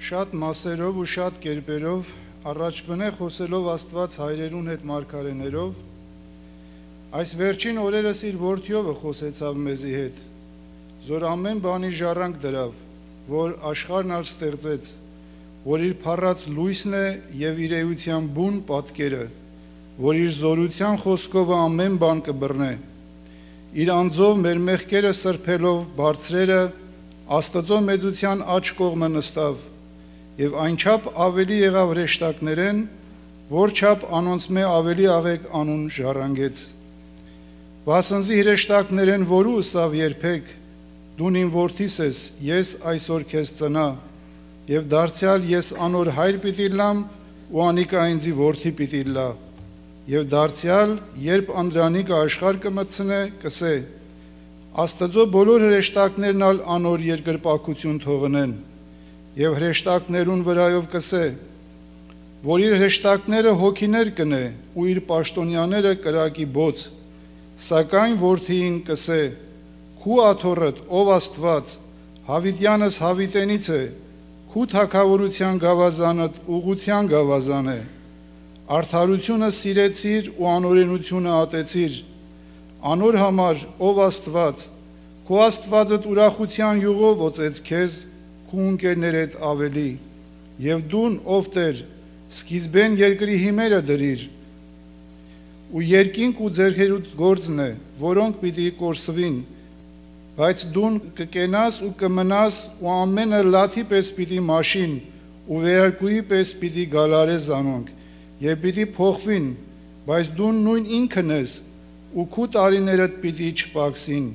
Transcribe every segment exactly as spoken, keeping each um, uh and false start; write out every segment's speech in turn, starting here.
շատ մասերով ու շատ կերպերով առաջվնե խոսելով Աստված հայրերուն հետ մարգարեներով, այս վերջին օրերս իր որդիովը խոսեցավ մեզի հետ, զոր ամեն բանի ժառանգ դրավ, որ աշխարհն ալ ստեղծեց, որ իր փառած լույսն է եւ իր էության բուն պատկերը, որ իր զորության խոսքով ամեն բան կբռնե, իր անձով մեր մեղքերը սրբելով բարձրերը Աստծո մեծության աջ կողմը նստավ եւ այնչափ ավելի եղավ հրեշտակներեն, որ չափ անոնցմե ավելի աղեկ անուն ժառանգեց։ Վասնզի հրեշտակներեն որու ըսավ երբեք, դուն իմ որդիս ես, ես այսօր քեզ ծնա, եւ դարձյալ ես անոր հայր պիտի լամ ու անիկա ինձի որդի պիտի լա, եւ դարձյալ երբ անդրանիկը աշխարհ կմտցնե, կսե Աստծո բոլոր հրեշտակներն ալ անոր երկրպագություն թողնեն, եւ հրեշտակներուն վրայով կսե, որ իր հրեշտակները հոգիներ կնե ու իր պաշտոնյաները կրակի բոց, սակայն որդին կսե, քու աթոռդ ով Աստված, հավիտյանս հավիտենից է, քու թագավորության գավազանդ ուղղության գավազան է, արդարությունը սիրեցիր ու անօրենությունը ատեցիր, անոր համար ով Աստված, քո Աստվածդ ուրախության յուղով օծեց քեզ, քու ընկերներդ ավելի, եւ դուն ով Տեր, սկիզբեն երկրի հիմերը դրիր, ու երկինք ու ձեռքերուդ գործն է, որոնք պիտի կորսվին, բայց դուն կկենաս ու կմնաս ու ամենը լաթի պես պիտի մաշին ու վերարկուի պես պիտի գալարես անոնք, եւ պիտի փոխվին, բայց դուն նույն ինքն ես, ու քու տարիներդ պիտի չպակսին,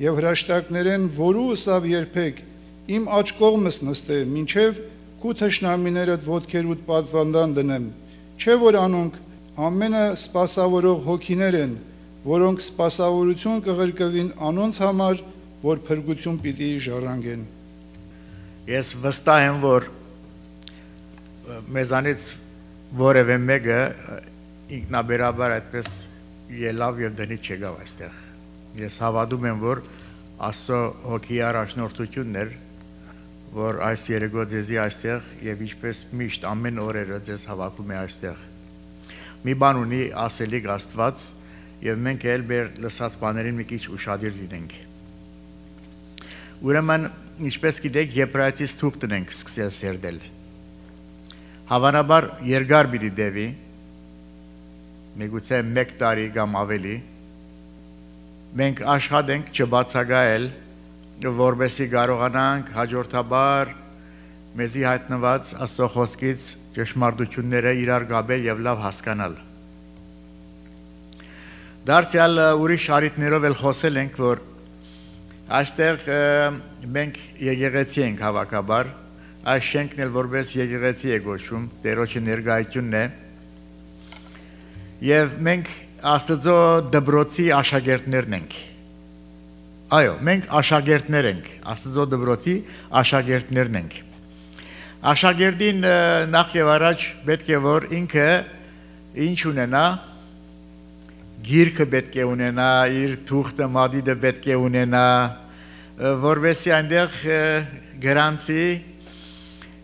եւ հրաշտակներեն որու ըսավ երբեք, իմ աջ կողմս նստե, մինչև քու թշնամիներդ ոտքերուդ պատվանդան դնեմ, չէ որ անոնք ամենը սպասավորող հոգիներ են, որոնք սպասավորություն կղրկվին անոնց համար, որ փրկություն պիտի ժառանգեն։ Ես վստահ եմ, որ մեզանից որևէ մեկը ինքնաբերաբար այդպես ելավ եւ դնից չեկավ այստեղ։ Ես հավատում եմ, որ Աստծո հոգի առաջնորդությունն էր, որ այս երեկո ձեզի այստեղ եւ ինչպես միշտ ամեն օրերը ձեզ հավաքում է այստեղ։ Մի բան ունի ասելիք Աստված եւ մենք էլ մեր լսած բաներին մի քիչ ուշադիր լինենք։ Ուրեմն, ինչպես գիտեք, Եբրայեցիս թուղթն ենք սկսել սերդել։ Հավանաբար երկար պիտի դեպի, միգուցե մեկ տարի կամ ավելի, մենք աշխատենք չբացակայել, որպեսզի կարողանանք հաջորդաբար մեզի հայտնված Աստծո խոսքից ճշմարտությունները իրար գաբել եւ լավ հասկանալ։ Դարձյալ ուրիշ առիթներով էլ խոսել ենք, որ այստեղ մենք եկեղեցի ենք հավաքաբար, այս շենքն էլ որպես եկեղեցի է գոչվում, Տերոջի ներկայությունն է, եւ մենք Աստծո դպրոցի աշակերտներն ենք։ Այո, մենք աշակերտներ ենք, Աստծո դպրոցի աշակերտներն ենք։ Աշակերտին նախ եւ առաջ պետք է որ ինքը ինչ ունենա, գիրքը պետք է ունենա, իր թուղթը մադիդը պետք է ունենա, որովհետեւ այնտեղ գրանցի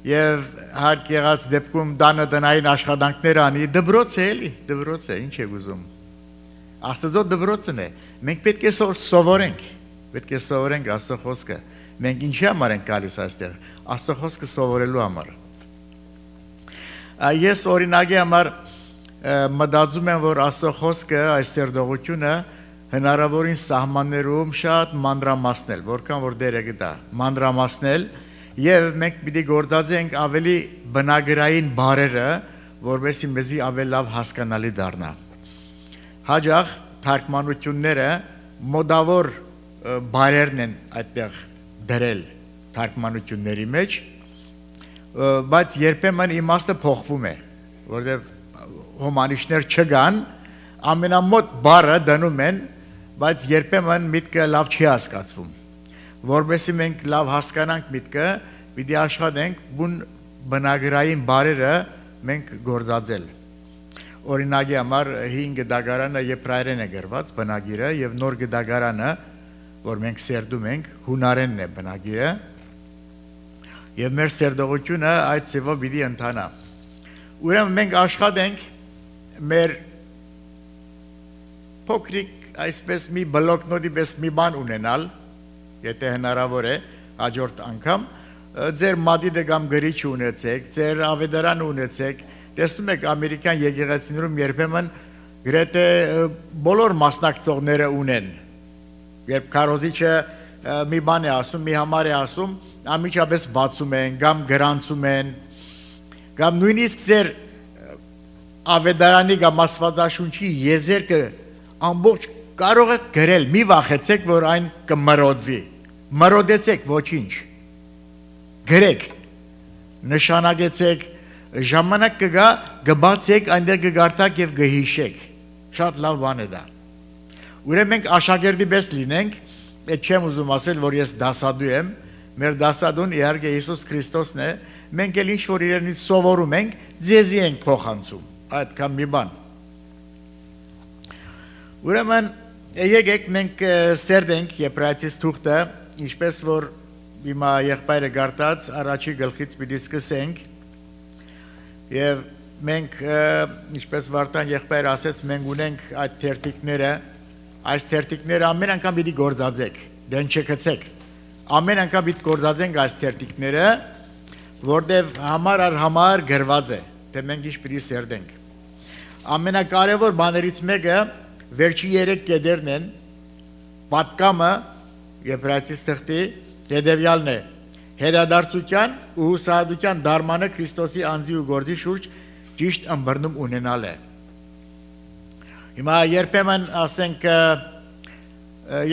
եւ հարկ եղած դեպքում դանը տնային աշխատանքներ անի, դպրոց է էլի, դպրոց է, ինչ եք ուզում։ Աստծո դպրոցն է, մենք պետք է սովորենք, պետք է սովորենք Աստծո խոսքը։ Մենք ինչի համար ենք գալիս այստեղ, Աստծո խոսքը սովորելու համար։ Ես օրինակի համար մտածում եմ, որ Աստծո խոսքը, այս սերտողությունը հնարավորին սահմաններում շատ մանրամասնել, որքան որ դերը գտա, մանրամասնել եւ մենք պիտի գործածենք ավելի բնագրային բառերը, որովհետեւ մեզի ավելի լավ հասկանալի դառնա։ Հաջող թարգմանությունները մոդավոր բառերն են այդտեղ դրել թարգմանությունների մեջ, բայց երբեմն իմաստը փոխվում է, որովհետեւ հոմանիշներ չկան, ամենամոտ բառը դնում են, բայց երբեմն միտքը լավ չի հասկացվում։ Որովհետեւ մենք լավ հասկանանք միտքը, պիտի աշխատենք բուն բնագրային բառերը մենք գործածել։ Օրինակի համար հին գդագարանը եբրայերեն է գրված բնագիրը եւ նոր գդագարանը, որ մենք սերդում ենք, հունարենն է բնագիրը։ եւ մեր սերդողությունը այդ ծևով պիտի ընթանա։ Ուրեմն մենք աշխատենք մեր փոքրիկ այսպես մի բլոկնոտի պես մի բան ունենալ, եթե հնարավոր է հաջորդ անգամ ձեր մադիդը կամ գրիչ ունեցեք, ձեր ավետարան ունեցեք, տեսնում եք ամերիկյան եկեղեցիներում երբեմն գրեթե բոլոր մասնակցողները ունեն, երբ քարոզիչը մի բան է ասում, մի համար է ասում, ամիջապես բացում են, կամ գրանցում են, կամ նույնիսկ ձեր ավետարանի կամ աստվածաշունչի եզերքը ամբողջ կարող եք գրել, մի վախեցեք, որ այն կմրոդվի, մրոդեցեք ոչինչ, գրեք, նշանակեցեք, ժամանակ կգա, գբացեք, այնտեղ կգարտակ և գհիշեք, շատ լավ բան է դա։ Ուրեմն մենք աշակերտի պես լինենք, այդ չեմ ուզում ասել, որ ես դասադու եմ, մեր դասադուն իհարկե Հիսուս Քրիստոսն է, մենք էլ ինչ որ իրենից սովորում ենք, ձեզի ենք փոխանցում, այդքան մի բան։ Ուրեմն եկեք մենք սերդենք Եբրայեցիս թուղթը, ինչպես որ հիմա եղբայրը գարտած առաջի գլխից պիտի սկսենք, եւ մենք ինչպես Վարդան եղբայրը ասեց, մենք ունենք այդ թերթիկները, այս թերթիկները ամեն անգամ պիտի գործածեք, դեն չգցեք, ամեն անգամ պիտի գործածենք այս թերթիկները, որտեղ համար առ համար գրված է, թե մենք ինչ պիտի սերդենք։ Ամենակարևոր բաներից մեկը վերջի երեք կետերն են, պատկամը Եբրայեցիս թղթի հետևյալն է, հետադարձության ու հուսահատության դարմանը Քրիստոսի անձի ու գործի շուրջ ճիշտ ըմբռնում ունենալ է։ Հիմա երբեմն ասենք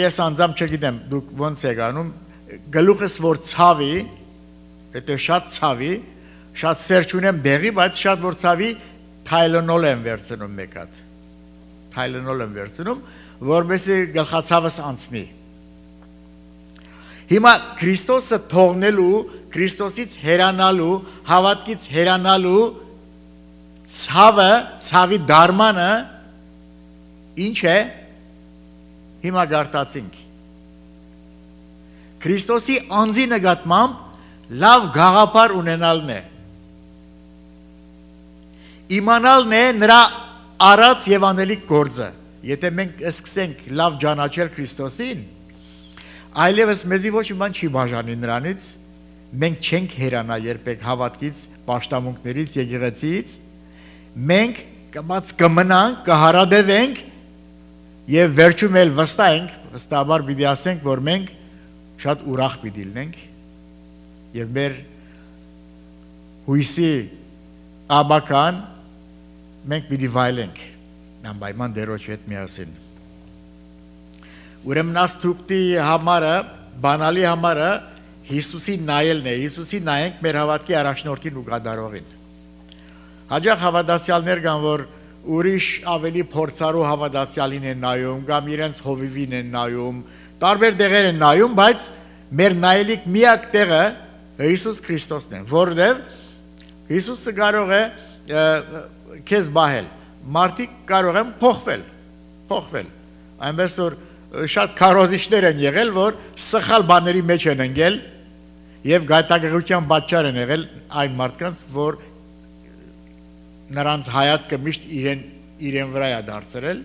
ես անձամբ չգիտեմ, դուք ոնց եք անում, գլուխս որ ցավի, եթե շատ ցավի, շատ սեր չունեմ դեղի, բայց շատ որ ցավի թայլոնոլ եմ վերցնում մեկ հատ, թայլոնոլ եմ վերցնում, որպեսզի գլխացավս անցնի։ Հիմա Քրիստոսը թողնելու, Քրիստոսից հեռանալու, հավատքից հեռանալու ցավը, ցավի դարմանը ինչ է, հիմա գարտացինք։ Քրիստոսի անձի նկատմամբ լավ գաղափար ունենալն է։ Իմանալն է նրա արած եւ անելիք գործը։ Եթե մենք սկսենք լավ ճանաչել Քրիստոսին, այլևս մեզի ոչ մի բան չի բաժանի նրանից, մենք չենք հեռանա երբեք հավատքից, պաշտամունքներից, եկեղեցիից, մենք կմած կմնանք, կհարադևենք եւ վերջում էլ վստահ ենք, վստահաբար պիտի ասենք, որ մենք շատ ուրախ պիտի լինենք եւ մեր հույսի աբական մենք պիտի վայելենք անպայման Տերոջի հետ միասին։ Ուրեմն այս թուղթի համարը, բանալի համարը Հիսուսի նայելն է, Հիսուսի նայենք մեր հավատքի առաջնորդին ու գադարողին։ Հաջող հավատացյալներ կան, որ ուրիշ ավելի փորձառու հավատացյալին են նայում, կամ իրենց հովիվին են նայում, տարբեր տեղեր են նայում, բայց մեր նայելիք միակ տեղը Հիսուս Քրիստոսն է, որովհետև Հիսուսը կարող է քեզ բահել, մարդիկ կարող են փոխվել, փոխվել, այնպես որ շատ քարոզիչներ են եղել, որ սխալ բաների մեջ են ընկել եւ գայթակղության պատճառ են եղել այն մարդկանց, որ նրանց հայացքը միշտ իրեն իրեն վրա է դարձրել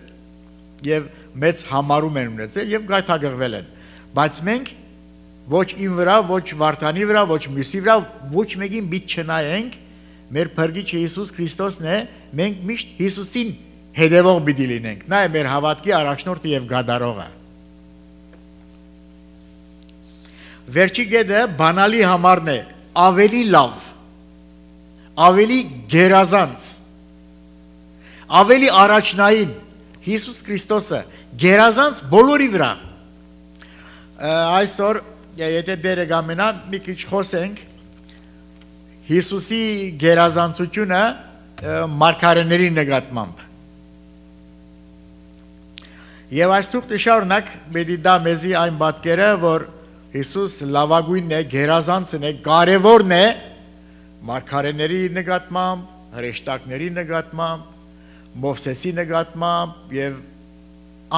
եւ մեծ համարում են ունեցել եւ գայթակղվել են, բայց մենք ոչ իմ վրա, ոչ Վարդանի վրա, ոչ մյուսի վրա, ոչ մեկին պիտի չնայենք, մեր փրկիչը Հիսուս Քրիստոսն է, մենք միշտ Հիսուսին հետևող պիտի լինենք, նա է մեր հավատքի առաջնորդը եւ գադարողը։ Վերջի կետը բանալի համարն է, ավելի լավ, ավելի գերազանց, ավելի առաջնային Հիսուս Քրիստոսը գերազանց բոլորի վրա։ Այսօր եթե դերը գամենա մի քիչ խոսենք Հիսուսի գերազանցությունը մարգարեների նկատմամբ։ Եվ այս թուղթը շարունակ պետք է դա մեզի այն պատկերը, որ Հիսուս լավագույնն է, գերազանցն է, կարևորն է մարգարեների նկատմամբ, հրեշտակների նկատմամբ, Մովսեսի նկատմամբ եւ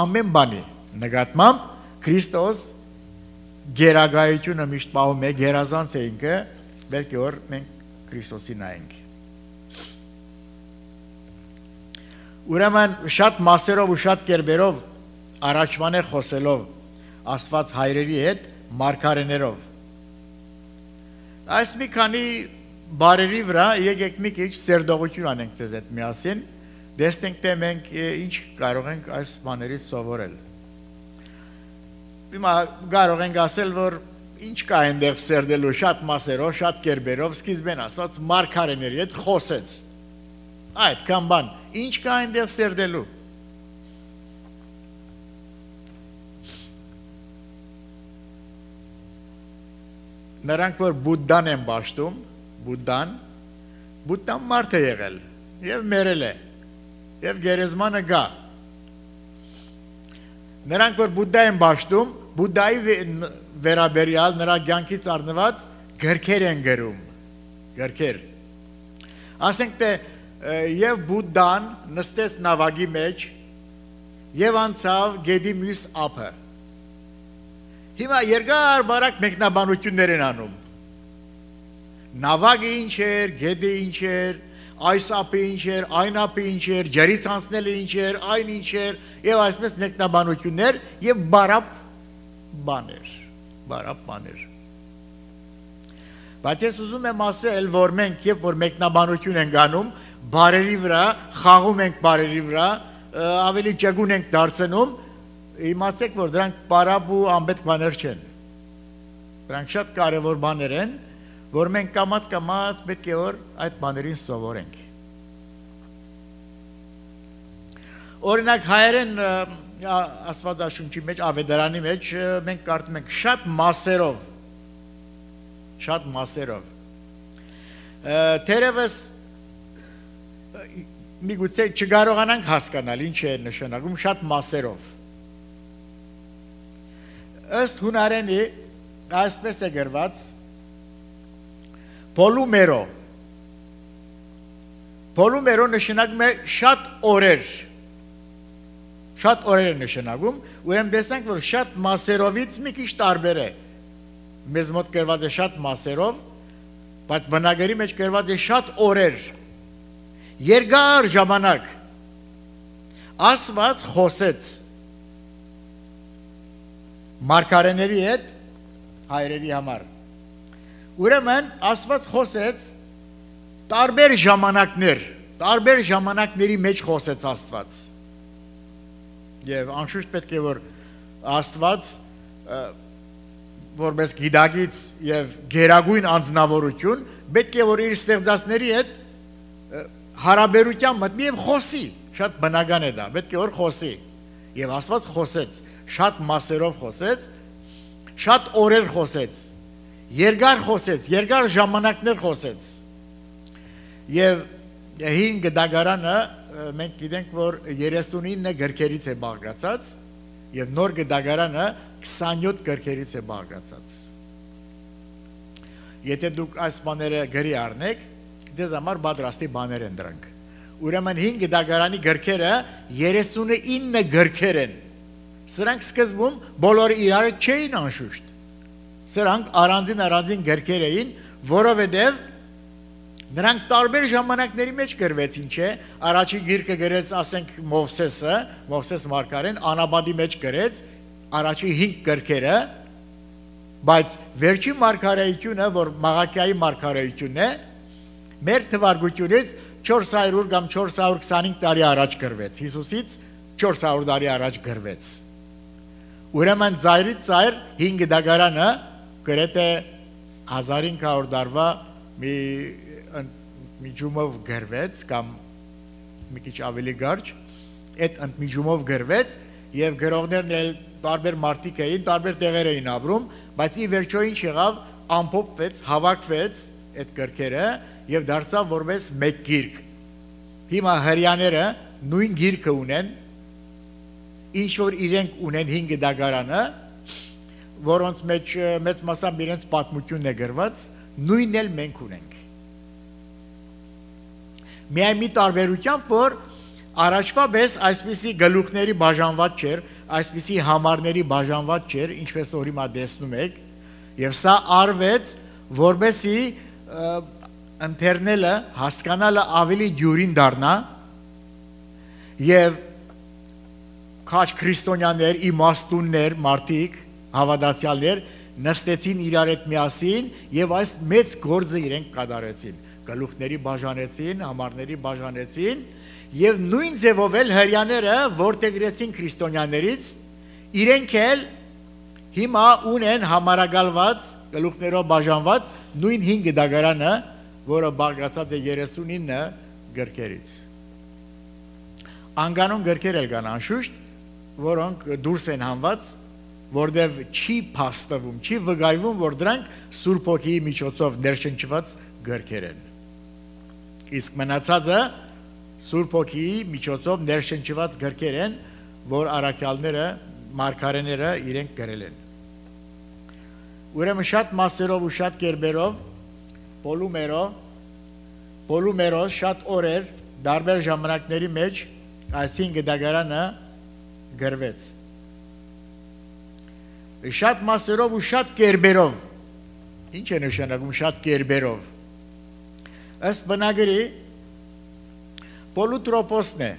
ամեն բանի նկատմամբ Քրիստոս գերագայությունը միշտ պահում է, գերազանց է ինքը բելքի որ մենք Քրիստոսի նայենք։ Ուրեմն շատ մասերով ու շատ կերպերով առաջվան է խոսելով Աստված հայրերի հետ մարգարեներով։ Այս մի քանի բարերի վրա եկեք մի քիչ սերդողություն անենք ձեզ հետ միասին, տեսնենք թե մենք ինչ կարող ենք այս բաներից սովորել։ Հիմա կարող ենք ասել, որ ինչ կա այնտեղ սերդելու շատ մասերով, շատ կերպերով, սկիզբեն ասած մարգարեների հետ խոսեց։ Այդքան բան, ինչ կա այնտեղ սերդելու։ Նրանք որ Բուդդան են ճաշտում, Բուդդան, Բուդդան մարդ է եղել եւ մերել է եւ գերեզմանը գա։ Նրանք որ Բուդդա են ճաշտում, Բուդդայի վերաբերյալ նրա կյանքից առնված գրքեր են գրում, գրքեր։ Ասենք թե եւ Բուդդան նստեց նավակի մեջ եւ անցավ գետի մյուս ափը։ Հիմա երկար բարակ մեկնաբանություններ են անում։ Նավակը ինչ էր, գետը ինչ էր, այս ափը ինչ էր, այն ափը ինչ էր, ջրից անցնելը ինչ էր, այն ինչ էր, եւ այսպես մեկնաբանություններ եւ բարապ բաներ, բարապ բաներ։ Բայց ես ուզում եմ ասել, որ մենք երբ որ մեկնաբանություն ենք անում, բարերի վրա, խաղում ենք բարերի վրա, ավելի ճգուն ենք դարձնում, իմացեք, որ դրանք բարապ ու անպետք բաներ չեն։ Դրանք շատ կարևոր բաներ են, որ մենք կամաց-կամաց պետք է որ այդ բաներին սովորենք։ Օրինակ հայերեն Աստվածաշունչի մեջ, Ավետարանի մեջ մենք կարդում ենք շատ մասերով, շատ մասերով։ Թերևս միգուցե չկարողանանք հասկանալ ինչ է նշանակում շատ մասերով։ Ըստ հունարենի այսպես է գրված Պոլումերո։ Պոլումերո նշանակում է շատ օրեր։ Շատ օրեր է նշանակում, ուրեմն տեսանք, որ շատ մասերովից մի քիչ տարբեր է։ Մեզ մոտ գրված է շատ մասերով, բայց բնագերի մեջ գրված է շատ օրեր։ Երկար ժամանակ Աստված խոսեց մարգարեների հետ հայրերի համար։ Ուրեմն Աստված խոսեց տարբեր ժամանակներ, տարբեր ժամանակների մեջ խոսեց Աստված։ Եվ անշուշտ պետք է որ Աստված որպես գիտակից եւ գերագույն անձնավորություն պետք է որ իր ստեղծածների հետ հարաբերության մտնի եւ խոսի, շատ բնական է դա, պետք է որ խոսի։ Եվ Աստված խոսեց, շատ մասերով խոսեց, շատ օրեր խոսեց, երկար խոսեց, երկար ժամանակներ խոսեց։ Եվ հին գդագարանը մենք գիտենք, որ երեսունինը գրքերից է բաղկացած եւ նոր գդագարանը քսանյոթ գրքերից է բաղկացած։ Եթե դուք այս բաները գրի առնեք, ձեզ համար պատրաստի բաներ են դրանք։ Ուրեմն հին գդագարանի գրքերը երեսունինը գրքեր են։ Սրանք սկզբում բոլորը իրար չէին անշուշտ։ Սրանք առանձին առանձին գրքեր էին, որովհետև նրանք տարբեր ժամանակների մեջ գրվեցին, չէ՞։ Առաջի գիրքը գրեց, ասենք, Մովսեսը, Մովսես մարգարեն անաբադի մեջ գրեց առաջի հինգ գրքերը, բայց վերջին մարգարեությունը, որ Մաղաքիայի մարգարեությունն է, մեր թվարկությունից չորս հարյուր կամ չորս հարյուր քսանհինգ տարի առաջ գրվեց, Հիսուսից չորս հարյուր տարի առաջ գրվեց։ Ուրեմն ծայրից ծայր հինգ դագարանը գրեթե հազար հինգ հարյուր տարվա մի ընդմիջումով գրվեց կամ մի քիչ ավելի կարճ, այդ ընդմիջումով գրվեց եւ գրողներն էլ տարբեր մարդիկ էին, տարբեր տեղեր էին ապրում, բայց ի վերջո ինչ եղավ, ամփոփվեց, հավաքվեց այդ գրքերը եւ դարձավ որպես մեկ գիրք։ Հիմա հрьяաները նույն գիրքը ունեն, ինչ որ իրենք ունեն հինգ դագարանը, որոնց մեջ մեծ մասամբ իրենց պատմությունն է գրված, նույնն էլ մենք ունենք։ Միայն մի տարբերությամբ, որ առաջվա պես այսպիսի գլուխների բաժանված չէր, այսպիսի համարների բաժանված չէր, ինչպես որ հիմա տեսնում եք, եւ սա արվեց, որպեսզի ընթերնելը, հասկանալը ավելի յուրին դառնա եւ քաչ քրիստոնյաներ, իմաստուններ, մարդիկ, հավատացյալներ նստեցին իրար հետ միասին եւ այս մեծ գործը իրենք կատարեցին, գլուխների բաժանեցին, համարների բաժանեցին եւ նույն ձևով էլ հрьяաները որտեղրեցին քրիստոնյաներից, իրենք էլ հիմա ունեն համարագալված, գլուխներով բաժանված նույն հինգ դագարանը, որը բաղկացած է երեսունինը գրքերից։ Անգանուն գրքեր էլ կան անշուշտ, որոնք դուրս են հանված, որտեղ չի փաստվում, չի վկայվում, որ դրանք Սուրբ Հոգիի միջոցով ներշնչված գրքեր են։ Իսկ մնացածը Սուրբ Հոգիի միջոցով ներշնչված գրքեր են, որ առաքյալները, մարգարեները իրենք գրել են։ Ուրեմն շատ մասերով ու շատ կերպերով պոլումերով, պոլումերով շատ օրեր, տարբեր ժամանակների մեջ այսին գդագարանը գրվեց։ Շատ մասերով ու շատ կերպերով, ինչ է նշանակում շատ կերպերով, ըստ բնագրի պոլուտրոպոսն է,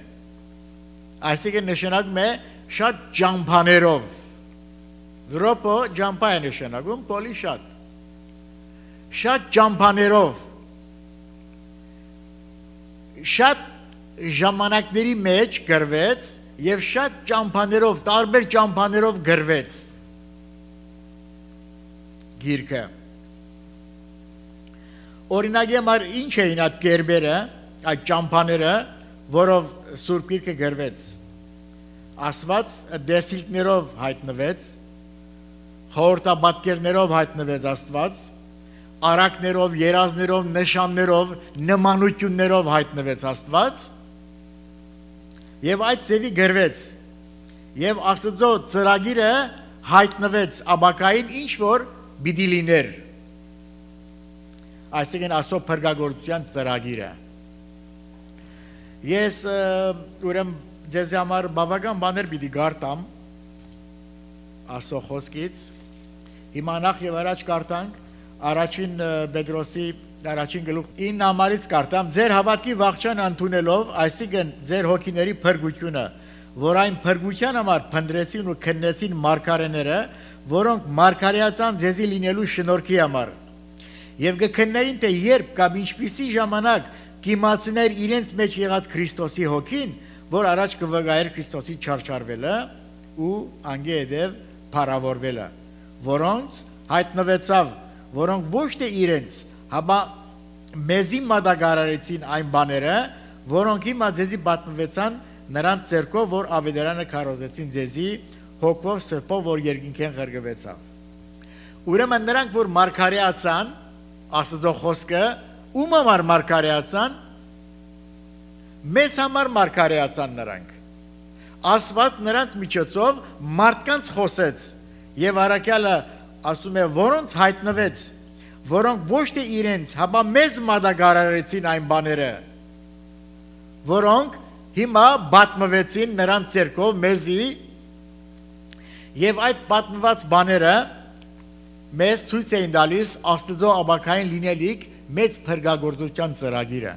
այսինքն նշանակում է շատ ջամփաներով, դրոպո ջամփա է նշանակում, պոլի շատ, շատ ջամփաներով, շատ ժամանակների մեջ գրվեց եւ շատ ջամփաներով, տարբեր ջամփաներով գրվեց գիրքը։ Օրինակի համար ինչ էին այդ կերպերը, այդ ջամփաները, որով Սուրբ Գիրքը գրվեց։ Աստված դեսիլքներով հայտնվեց, խորհրդաբատկերներով հայտնվեց Աստված, արակներով, երազներով, նշաններով, նմանություններով հայտնվեց Աստված, եւ այդ ձևի գրվեց, եւ Աստծո ծրագիրը հայտնվեց ապակային ինչ որ պիտի լիներ, այսինքն Աստծո փրկagorցության ծրագիրը։ Ես ուրեմն ձեզ համար բավական բաներ պիտի գարտամ Աստծո խոսքից, հիմա նախ եւ առաջ կարտանք առաջին Պետրոսի առաջին գլուխ ինը համարից կարտամ, ձեր հավատքի վախճան ընդունելով, այսինքն ձեր հոգիների փրկությունը, որ այն փրկության համար փնտրեցին ու քննեցին մարգարեները, որոնք մարգարեացան ձեզի լինելու շնորհքի համար, եւ կքննեին թե երբ կամ ինչպիսի ժամանակ կիմացներ իրենց մեջ եղած Քրիստոսի հոգին, որ առաջ կվկայեր Քրիստոսի չարչարվելը ու անգեդև փառավորվելը, որոնց հայտնվեցավ, որոնք ոչ թե իրենց, հապա մեզի մատակարարեցին այն բաները, որոնք հիմա ձեզի պատմվեցան նրանց ձեռքով, որ ավետարանը քարոզեցին ձեզի հոգով սրբով, որ երկինքեն ղրգվեցավ։ Ուրեմն նրանք, որ մարգարեացան, Աստծո խոսքը, ում համար մարգարեացան, մեզ համար մարգարեացան նրանք։ Աստված նրանց միջոցով մարդկանց խոսեց, եւ առաքյալը ասում է, որոնց հայտնվեց, որոնք ոչ թե իրենց, հապա մեզ մատակարարեցին այն բաները, որոնք հիմա պատմվեցին նրանց ձեռքով մեզի, եւ այդ պատմված բաները մեզ ցույց էին տալիս Աստծո ապակային լինելիք մեծ փրկagorցության ծրագիրը,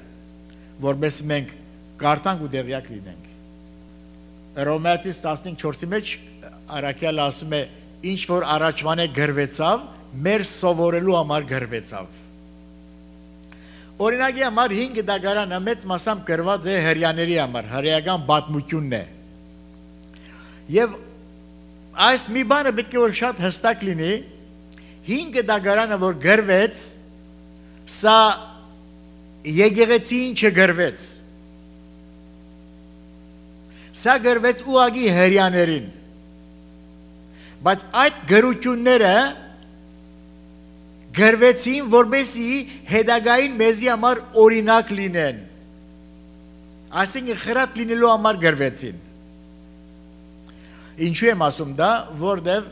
որպես մենք կարտանք ու դեղյակ լինենք։ Հռոմեացիս տասնչորսի մեջ առաքյալը ասում է, ինչ որ առաջվան է գրվեցավ, մեր սովորելու համար գրվեցավ։ Օրինակի համար հինգ դագարանը մեծ մասամբ գրված է հрьяաների համար, հրեական պատմությունն է։ Եվ այս մի բանը պետք է որ շատ հստակ լինի, հինգ դագարանը որ գրվեց, սա եկեղեցին չգրվեց, սա գրվեց ուղղակի հրեաներին, բայց այդ գրությունները գրվեցին, որպեսզի հետագային մեզի համար օրինակ լինեն, այսինքն խրատ լինելու համար գրվեցին։ Ինչու եմ ասում դա, որտև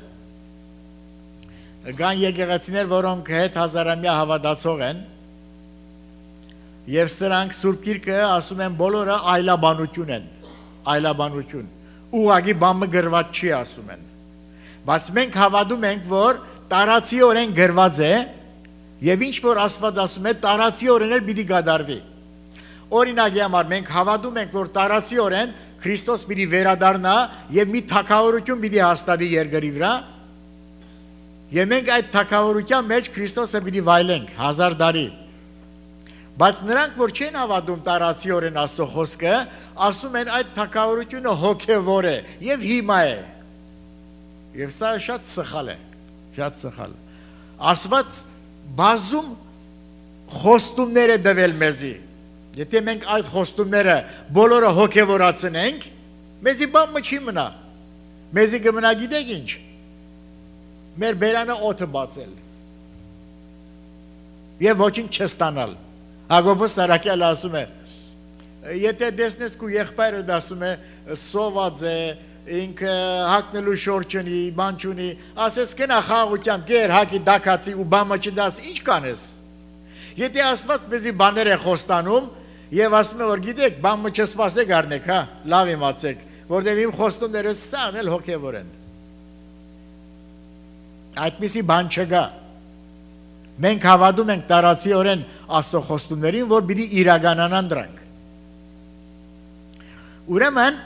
կան եկեղեցիներ, որոնք հետ հազարամյա հավատացող են, եւ սրանք Սուրբ Գիրքը ասում են բոլորը այլաբանություն են, այլաբանություն, ուղղակի բամը գրված չի ասում են, բայց մենք հավատում ենք, որ տարածիորեն գրված է Եվ ինչ որ Աստված ասում է, տարածիորեն էլ պիտի կատարվի։ Օրինակի համար մենք հավատում ենք, որ տարածիորեն Քրիստոս պիտի վերադառնա եւ մի թագավորություն պիտի հաստատի երկրի վրա։ Եվ մենք այդ թագավորության մեջ Քրիստոսը պիտի վայելենք հազար տարի։ Բայց նրանք, որ չեն հավատում տարածիորեն Աստծո խոսքը, ասում են այդ թագավորությունը հոգևոր է եւ հիմա է։ Եվ սա շատ սխալ է, շատ սխալ։ Աստված բազում խոստումներ է տվել մեզի։ Եթե մենք այդ խոստումները բոլորը հոգևորացնենք, մեզի բան չի մնա։ Մեզի կմնա գիտեք ինչ։ Մեր բերանը օդը բացել։ Եվ ոչինչ չստանալ։ Հակոբոս Սարակյալը ասում է, եթե տեսնես քո եղբայրը ասում է սոված է, ինքը հակնելու շորջ ունի, բան չունի, ասես գնա խաղաղությամբ, գեր հակի դակացի ու բամը չդաս, ինչ կանես։ Եթե Աստված մեզի բաներ է խոստանում, եւ ասում է որ գիտեք, բամը չսպասեք առնեք, հա, լավ իմացեք, որտեղ իմ խոստումները սան էլ հոգևոր են։ Այդպիսի բան չկա։ Մենք հավատում ենք տարածիորեն Աստծո խոստումներին, որ պիտի իրականանան դրանք։ Ուրեմն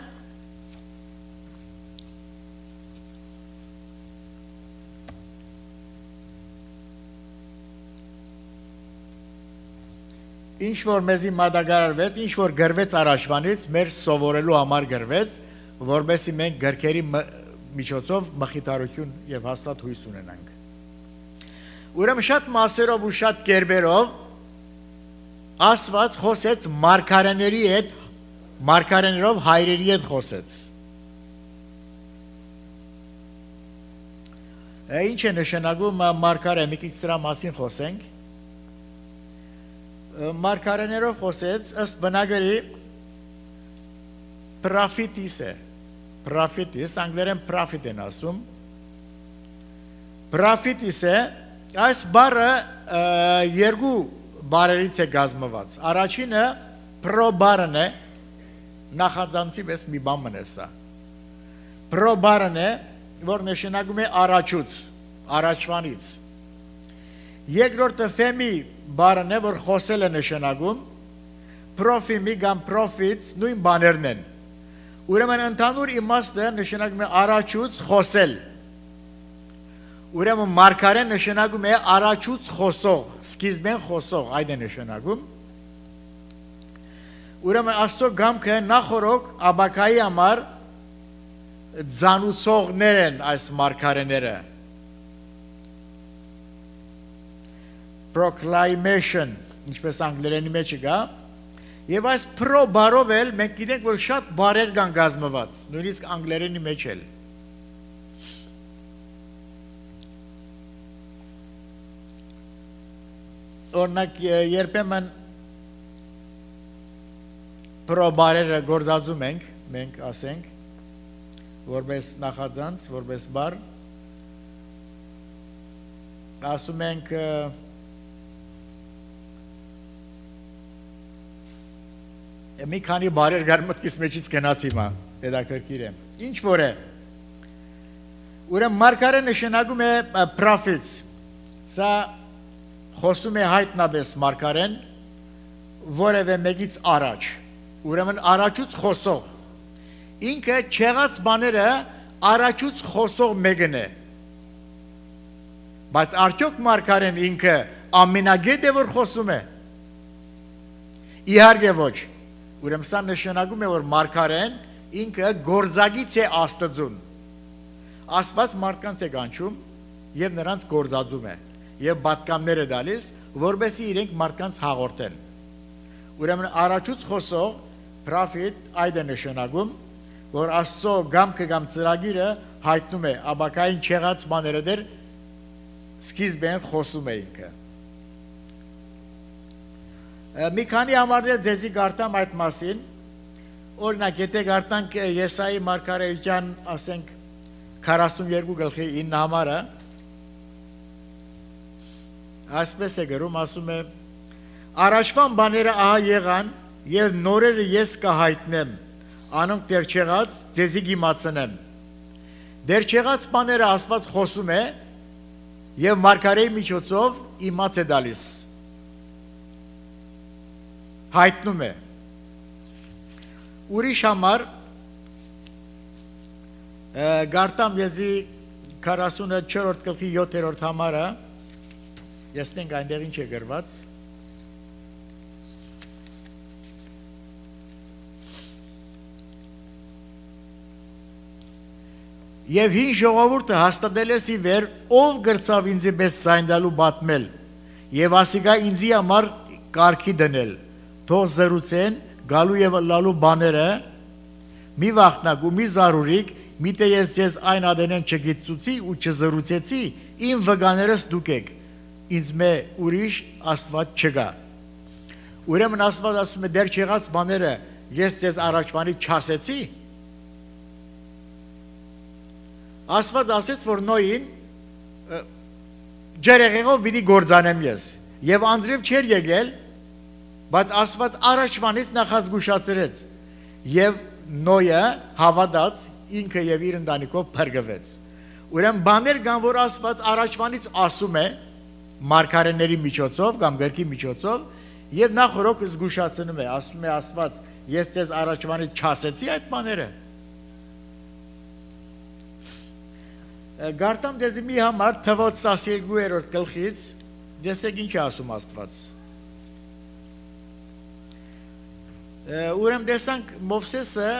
ինչ որ մեզի մատակարարվեց, ինչ որ գրվեց առաջվանից, մեր սովորելու համար գրվեց, որովհետեւ մենք գրքերի միջոցով մխիթարություն եւ հաստատ հույս ունենանք։ Ուրեմն շատ մասերով ու շատ կերպերով Աստված խոսեց մարգարեների հետ, մարգարեներով հայրերի հետ խոսեց։ Ինչ է նշանակում մարգարե, մի քիչ դրա մասին խոսենք։ Մարգարեներով խոսեց, ըստ բնագրի պրոֆետիս է, պրոֆետիս, անգլերեն պրոֆետ են ասում, պրոֆետիս է, այս բառը երկու բառերից է կազմված, առաջինը պրո բառն է, նախածանցի պես մի բան մն է սա, պրո բառն է, որ նշանակում է առաջուց, առաջվանից, երկրորդը ֆեմի բառն է, որ խոսել է նշանակում, պրոֆիմի կամ պրոֆիտ նույն բաներն են։ Ուրեմն ընդհանուր իմաստը նշանակում է առաջուց խոսել։ Ուրեմն մարգարեն նշանակում է առաջուց խոսող, սկիզբեն խոսող, այդ է նշանակում։ Ուրեմն Աստծո գամքը նախորոք Աբակայի համար ձանուցողներ են այս մարգարեները։ Proclamation, ինչպես անգլերենի մեջ կա, եւ այս pro բառով էլ մենք գիտենք, որ շատ բառեր կան կազմված, նույնիսկ անգլերենի մեջ էլ։ Օրինակ երբեմն pro բառերը գործածում ենք, մենք ասենք, որպես նախածանց, որպես բառ, ասում ենք մի քանի բարեր գար մտքիս մեջից գնաց հիմա, հետաքրքիր է։ Ինչ որ է։ Ուրեմն մարգարեն նշանակում է պրոֆետ։ Սա խոսում է հայտնաբես մարգարեն որևէ մեկից առաջ։ Ուրեմն առաջուց խոսող։ Ինքը չեղած բաները առաջուց խոսող մեկն է։ Բայց արդյոք մարգարեն ինքը ամենագետ է որ խոսում է։ Իհարկե ոչ։ Ուրեմն սա նշանակում է, որ մարգարեն ինքը գործագից է Աստծուն։ Աստված մարդկանց է կանչում եւ նրանց գործածում է եւ պատկամներ է տալիս, որովհետեւ իրենք մարդկանց հաղորդեն։ Ուրեմն առաջուց խոսող պրոֆետ այդ է նշանակում, որ Աստծո գամքը կամ ծրագիրը հայտնում է Աբակային չեղած բաները դեր սկիզբեն խոսում է ինքը։ Մի քանի համարներ ձեզի գարտամ այդ մասին, օրինակ եթե գարտանք Եսայի մարգարեության, ասենք քառասունյոթ գլխի ինը համարը, այսպես է գրում, ասում է, առաջվան բաները ահա եղան եւ նորերը ես կհայտնեմ, անոնք դեռ չեղած ձեզի գիմացնեմ։ Դեռ չեղած բաները Աստված խոսում է եւ մարգարեի միջոցով իմաց է դալիս, հայտնում է։ Ուրիշ համար գարտամ եզի քառասունչորսերորդ գլխի յոթերորդ համարը, եսնենք այնտեղ ինչ է գրված։ Եվ հին ժողովուրդը հաստատել է ի վեր, ով գրծավ ինձի պես զայնդալու բատմել, եւ ասիկա ինձի համար կարգի դնել, թող զրուցեն գալու եւ լալու բաները, մի վախնակ ու մի զարուրիկ, միտե ես ձեզ այն ադենեն չգիտցուցի ու չզրուցեցի, իմ վգաներս դուք եք, ինձ մե ուրիշ Աստված չկա։ Ուրեմն Աստված ասում է դեռ չեղած բաները ես ձեզ առաջվանից չասեցի։ Աստված ասեց, որ Նոյին ջերեղեղով պիտի գործանեմ ես, եւ անձրև չէր եկել, բայց Աստված առաջվանից նախազգուշացրեց, եւ Նոյը հավատաց, ինքը եւ իր ընտանիքով փրկվեց։ Ուրեմն բաներ կան, որ Աստված առաջվանից ասում է մարգարեների միջոցով կամ գրքի միջոցով, եւ նախորոք զգուշացնում է, ասում է Աստված, ես ձեզ առաջվանից չասեցի այդ բաները։ Գարտամ դեզի մի համար թվոց տասներկուերորդ գլխից, դեսեք ինչ է ասում Աստված։ Ուրեմն տեսանք Մովսեսը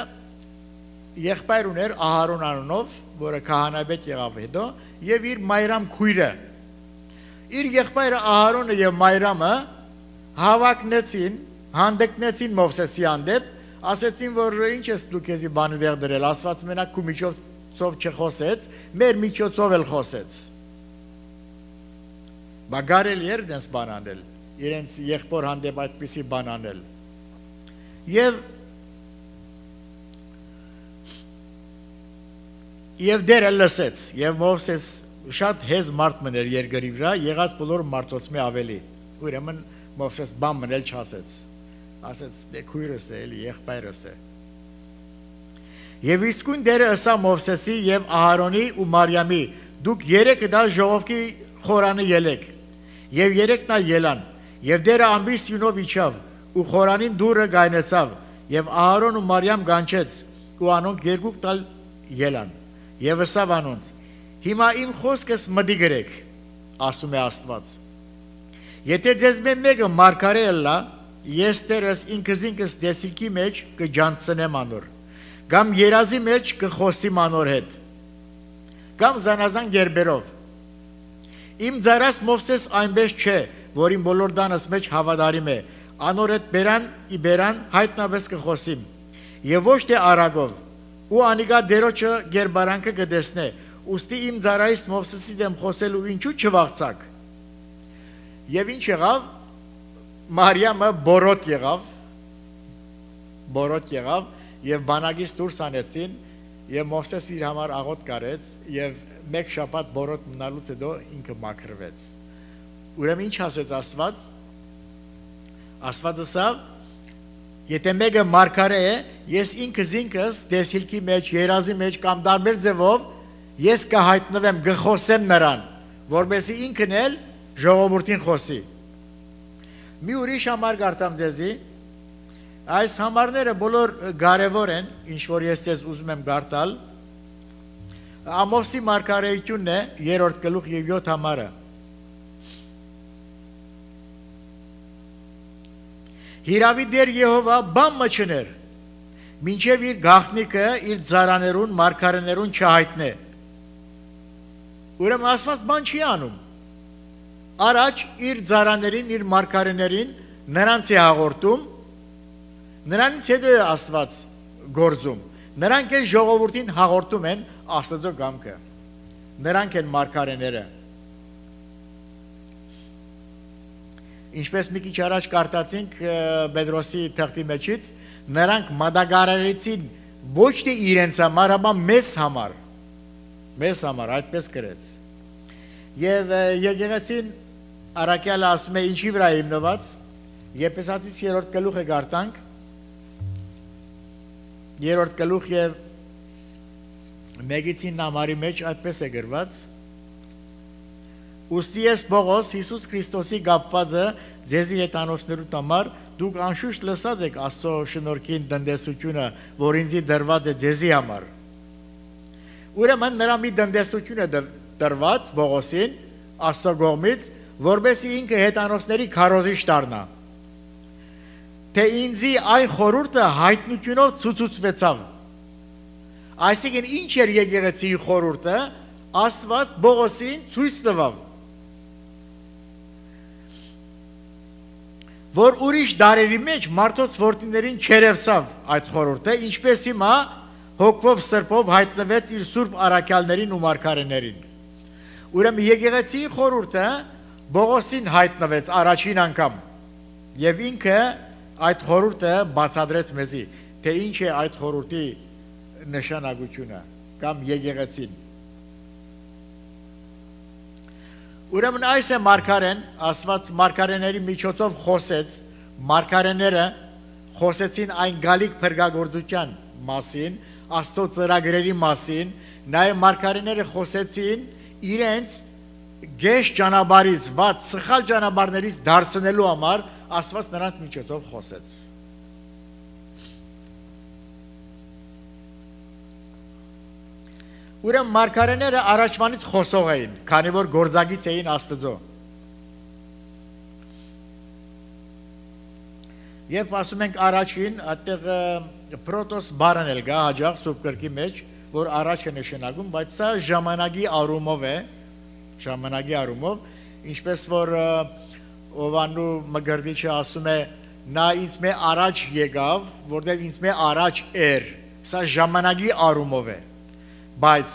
եղբայր ուներ Ահարոն անունով, որը քահանայապետ եղավ հետո, եւ իր Մայրամ քույրը։ Իր եղբայրը Ահարոնը եւ Մայրամը հավակնեցին, հանդգնեցին Մովսեսի հանդեպ, ասեցին, որ ինչ ես դու քեզի բանը դեղ դրել, Աստված մենակ քու միջոցով չխոսեց, մեր միջոցով էլ խոսեց։ Բա գարելի էր դենց բան անել, իրենց եղբոր հանդեպ այդպիսի բան անել։ Եվ Եվ դերը լսեց, եւ Մովսես շատ հեզ մարդ մներ երկրի վրա, եղած բոլոր մարդոց մի ավելի։ Ուրեմն Մովսես բան մնել չասեց։ Ասեց, դե քույրս է, էլի եղբայրս է։ Եվ իսկույն դերը ըսա Մովսեսի եւ Ահարոնի ու Մարիամի, դուք երեքը դա ժողովքի խորանը ելեք։ Եվ երեքն ա ելան, եւ դերը ամբիս յունով իջավ, ու խորանին դուրը գայնեցավ, եւ Ահարոն ու Մարիամ գանչեց, ու անոնք երկուք տալ ելան։ Եվ ըսավ անոնց, հիմա իմ խոսքս մտի գրեք, ասում է Աստված։ Եթե ձեզ մեկը մարգարե ըլլա, ես տերս ինքս ինքս դեսիլքի մեջ կջանցնեմ անոր, կամ երազի մեջ կխոսիմ անոր հետ, կամ զանազան գերբերով։ Իմ ձարած Մովսես այնպես չէ, որ իմ բոլոր դանս մեջ հավատարիմ է, անոր հետ բերան ի բերան հայտնավես կխոսիմ, եւ ոչ թե արագով, ու անիկա դերոջը գերբարանքը կտեսնե, ուստի իմ ձարայից Մովսեսի դեմ խոսելու ինչու չվաղցակ։ Եվ ինչ եղավ, Մարիամը բորոտ եղավ, բորոտ եղավ, եւ բանակից դուրս անեցին, եւ Մովսես իր համար աղոտ կարեց, եւ մեկ շաբաթ բորոտ մնալուց հետո ինքը մաքրվեց։ Ուրեմն ինչ ասեց Աստված։ Աստված ասավ, եթե մեկը մարգարե է, ես ինքս ինքս դեսիլքի մեջ, երազի մեջ կամ տարբեր ձևով ես կհայտնվեմ, կխոսեմ նրան, որպեսզի ինքն էլ ժողովրդին խոսի։ Մի ուրիշ համար գարտամ ձեզի, այս համարները բոլոր կարևոր են, ինչ որ ես ձեզ ուզում եմ գարտալ։ Ամոսի մարգարեությունն է երրորդ գլուխ եւ յոթ համարը։ Հիրավի դեր Եհովա բան մչներ, մինչև իր գաղտնիքը իր ձարաներուն, մարգարեներուն չհայտնե։ Ուրեմն Աստված բան չի անում։ Առաջ իր ձարաներին, իր մարգարեներին նրանց է հաղորդում, նրանից հետո է Աստված գործում։ Նրանք են ժողովրդին հաղորդում են Աստծո կամքը։ Նրանք են մարգարեները։ Ինչպես մի քիչ առաջ կարտացինք Պետրոսի թղթի մեջից, նրանք մատակարարեցին ոչ թե իրենց համար, այլ մեզ համար, մեզ համար, այդպես գրեց։ Եվ եկեղեցին առաքյալը ասում է ինչի վրա հիմնված, Եփեսացիս երրորդ գլուխը գարտանք, երրորդ գլուխ եւ մեկից ինը համարի մեջ այդպես է գրված. Ուստի ես Պողոս Հիսուս Քրիստոսի գապվածը ձեզի հետ անոցներու համար դուք անշուշտ լսած եք Աստծո շնորհքին դնդեսությունը, որ ինձի դրված է ձեզի համար։ Ուրեմն նրա մի դնդեսություն է դրված Պողոսին Աստծո կողմից, որովհետեւ ինքը հետանոցների քարոզիչ դառնա։ Թե ինձի այն խորհուրդը հայտնությունով ցուցուցվեցավ։ Այսինքն ինչ էր եկեղեցիի խորհուրդը, Աստված Պողոսին ցույց տվավ, որ ուրիշ դարերի մեջ մարդոց որդիներին չերևցավ այդ խորհուրդը, ինչպես հիմա հոգվով սրբով հայտնվեց իր սուրբ առաքյալներին ու մարգարեներին։ Ուրեմն եկեղեցիի խորհուրդը Պողոսին հայտնվեց առաջին անգամ, եւ ինքը այդ խորհուրդը բացադրեց մեզի, թե ինչ է այդ խորհրդի նշանակությունը կամ եկեղեցին։ Ուրեմն այս է մարգարեն, Աստված մարգարեների միջոցով խոսեց, մարգարեները խոսեցին այն գալիք փրկagorցության մասին, Աստծո ծրագրերի մասին, նաև մարգարեները խոսեցին իրենց գեշ ճանապարհից, ված սխալ ճանապարհներից դարձնելու համար Աստված նրանց միջոցով խոսեց։ Ուրեմն մարգարեները առաջվանից խոսող էին, քանի որ գործագից էին Աստծո։ Երբ ասում ենք առաջին, այդտեղ պրոտոս բառն էլ գա հաջող սուրբ գրքի մեջ, որ առաջ է նշանակում, բայց սա ժամանակի առումով է, ժամանակի առումով, ինչպես որ Օվանու Մգրդիչը ասում է, նա ինձ մե առաջ եկավ, որտեղ ինձ մե առաջ էր, սա ժամանակի առումով է։ Բայց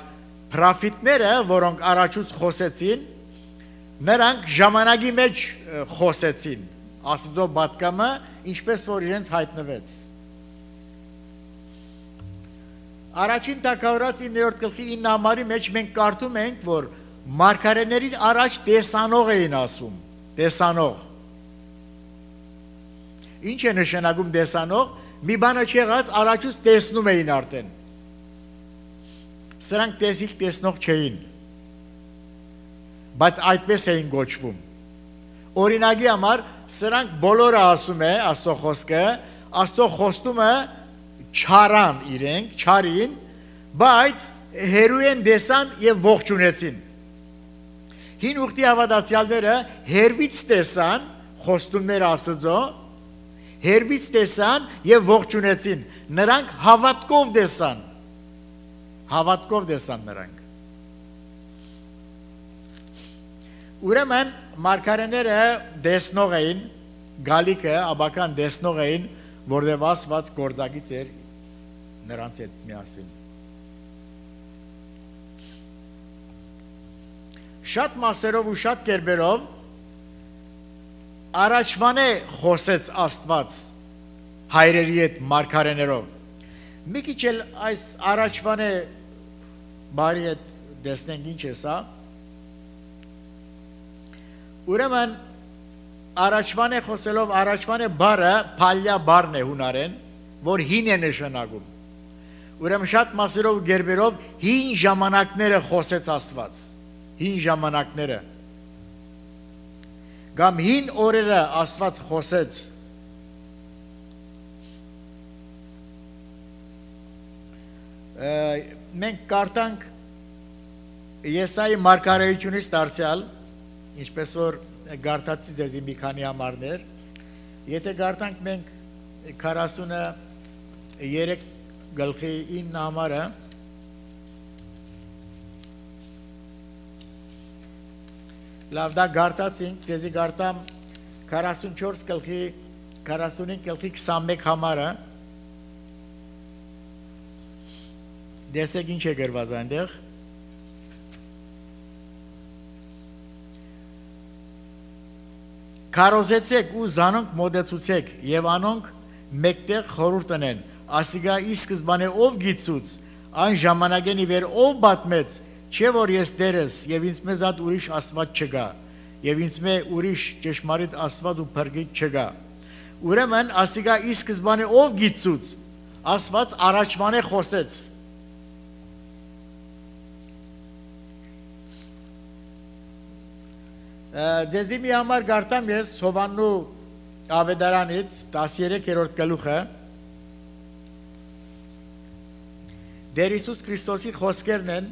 պրոֆետները, որոնք առաջուց խոսեցին, նրանք ժամանակի մեջ խոսեցին, Աստծո պատգամը, ինչպես որ իրենց հայտնվեց։ Առաջին Թագավորաց իններորդ գլխի ինը համարի մեջ մենք կարդում ենք, որ մարգարեներին առաջ տեսանող էին ասում, տեսանող։ Ինչ է նշանակում տեսանող, մի բանը չեղած առաջուց տեսնում էին արդեն։ Սրանք տեսիլ տեսնող չէին, բայց այդպես էին գոչվում։ Օրինակի համար սրանք բոլորը ասում է Աստծո խոսքը, Աստծո խոստումը չարան իրենք, չարին, բայց հերույեն դեսան եւ ողջունեցին։ Հին ուխտի հավատացյալները հերվից տեսան խոստումները Աստծո, հերվից տեսան եւ ողջունեցին։ Նրանք հավատքով տեսան։ Հավատքով տեսան նրանք։ Ուրեմն մարգարեները տեսնող էին, գալիքը աբական տեսնող էին, որտեղ Աստված գործագից էր նրանց հետ միասին։ Շատ մասերով ու շատ կերպերով առաջվանե խոսեց Աստված հայրերի հետ մարգարեներով։ Մի քիչ էլ այս առաջվանե բարի հետ տեսնենք ինչ է սա։ Ուրեմն առաջվանե խոսելով առաջվանե բառը փալյա բառն է հունարեն, որ հին է նշանակում։ Ուրեմն շատ մասերով գերբերով հին ժամանակները խոսեց Աստված, հին ժամանակները։ Կամ հին օրերը Աստված խոսեց։ Մենք կարդանք Եսայի մարգարեությունից դարձյալ, ինչպես որ գարտացի ձեզի մի քանի համարներ, եթե գարտանք մենք քառասուներեք գլխի ինը համարը, լավ դա գարտացինք, ձեզի գարտամ քառասունչորս գլխի, քառասունհինգ գլխի քսանմեկ համարը, դեսեք ինչ է գրված այնտեղ։ Քարոզեցեք ու զանոնք մոդեցուցեք եւ անոնք մեկտեղ խորհուրդ տնեն։ Ասիգա ի սկզբանե ով գիծուց, այն ժամանակենի վեր ով բատմեց, չէ որ ես դերես եւ ինձ մեզ ատ ուրիշ Աստված չգա եւ ինձ մե ուրիշ ճշմարիտ Աստված ու փրկիչ չգա։ Ուրեմն ասիգա ի սկզբանե ով գիծուց, Աստված առաջվանե խոսեց։ Ձեզի մի համար գարտամ ես Հովաննու ավետարանից տասներեքերորդ գլուխը Տեր Հիսուս Քրիստոսի խոսքերն են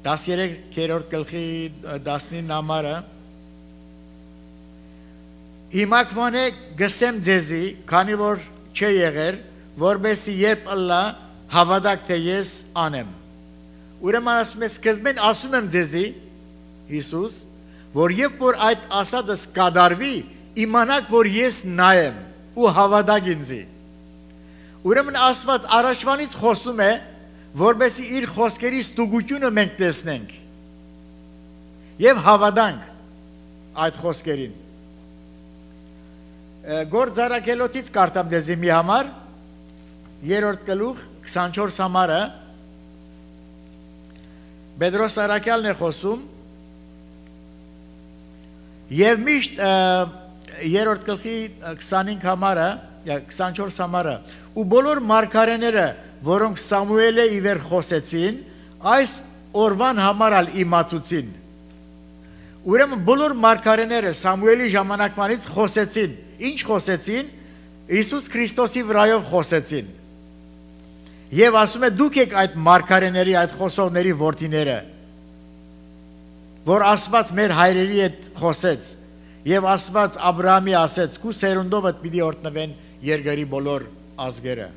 տասներեքերորդ գլխի տասնինը համարը Հիմա կվանե գսեմ ձեզի, քանի որ չէ եղեր, որբեսի երբ ըլլա հավատակ թե ես անեմ։ Ուրեմն ասում է սկզբեն ասում եմ ձեզի Հիսուս, որ երբ որ այդ ասածս կատարվի, իմանաք, որ ես նա եմ ու հավատակ ինձի։ Ուրեմն Աստված առաջվանից խոսում է, որբեսի իր խոսքերի ստուգությունը մենք տեսնենք եւ հավատանք այդ խոսքերին։ Գործ Առաքելոցից կարդամ դեզի մի համար, երրորդ գլուխ, քսանչորս համարը, Պետրոս Առաքյալն է խոսում, եւ միշտ երրորդ գլխի քսանհինգ համարը, քսանչորս համարը, ու բոլոր մարգարեները, որոնք Սամուելը իվեր խոսեցին, այս օրվան համարալ իմացուցին։ Ուրեմն բոլոր մարգարեները Սամուելի ժամանակվանից խոսեցին, ինչ խոսեցին, Հիսուս Քրիստոսի վրայով խոսեցին։ Եվ ասում է դուք եք այդ մարգարեների, այդ խոսողների որդիները, որ Աստված մեր հայրերի հետ խոսեց, եւ Աստված Աբրահամի ասեց, քու սերունդովդ պիտի օրհնվեն երկրի բոլոր ազգերը։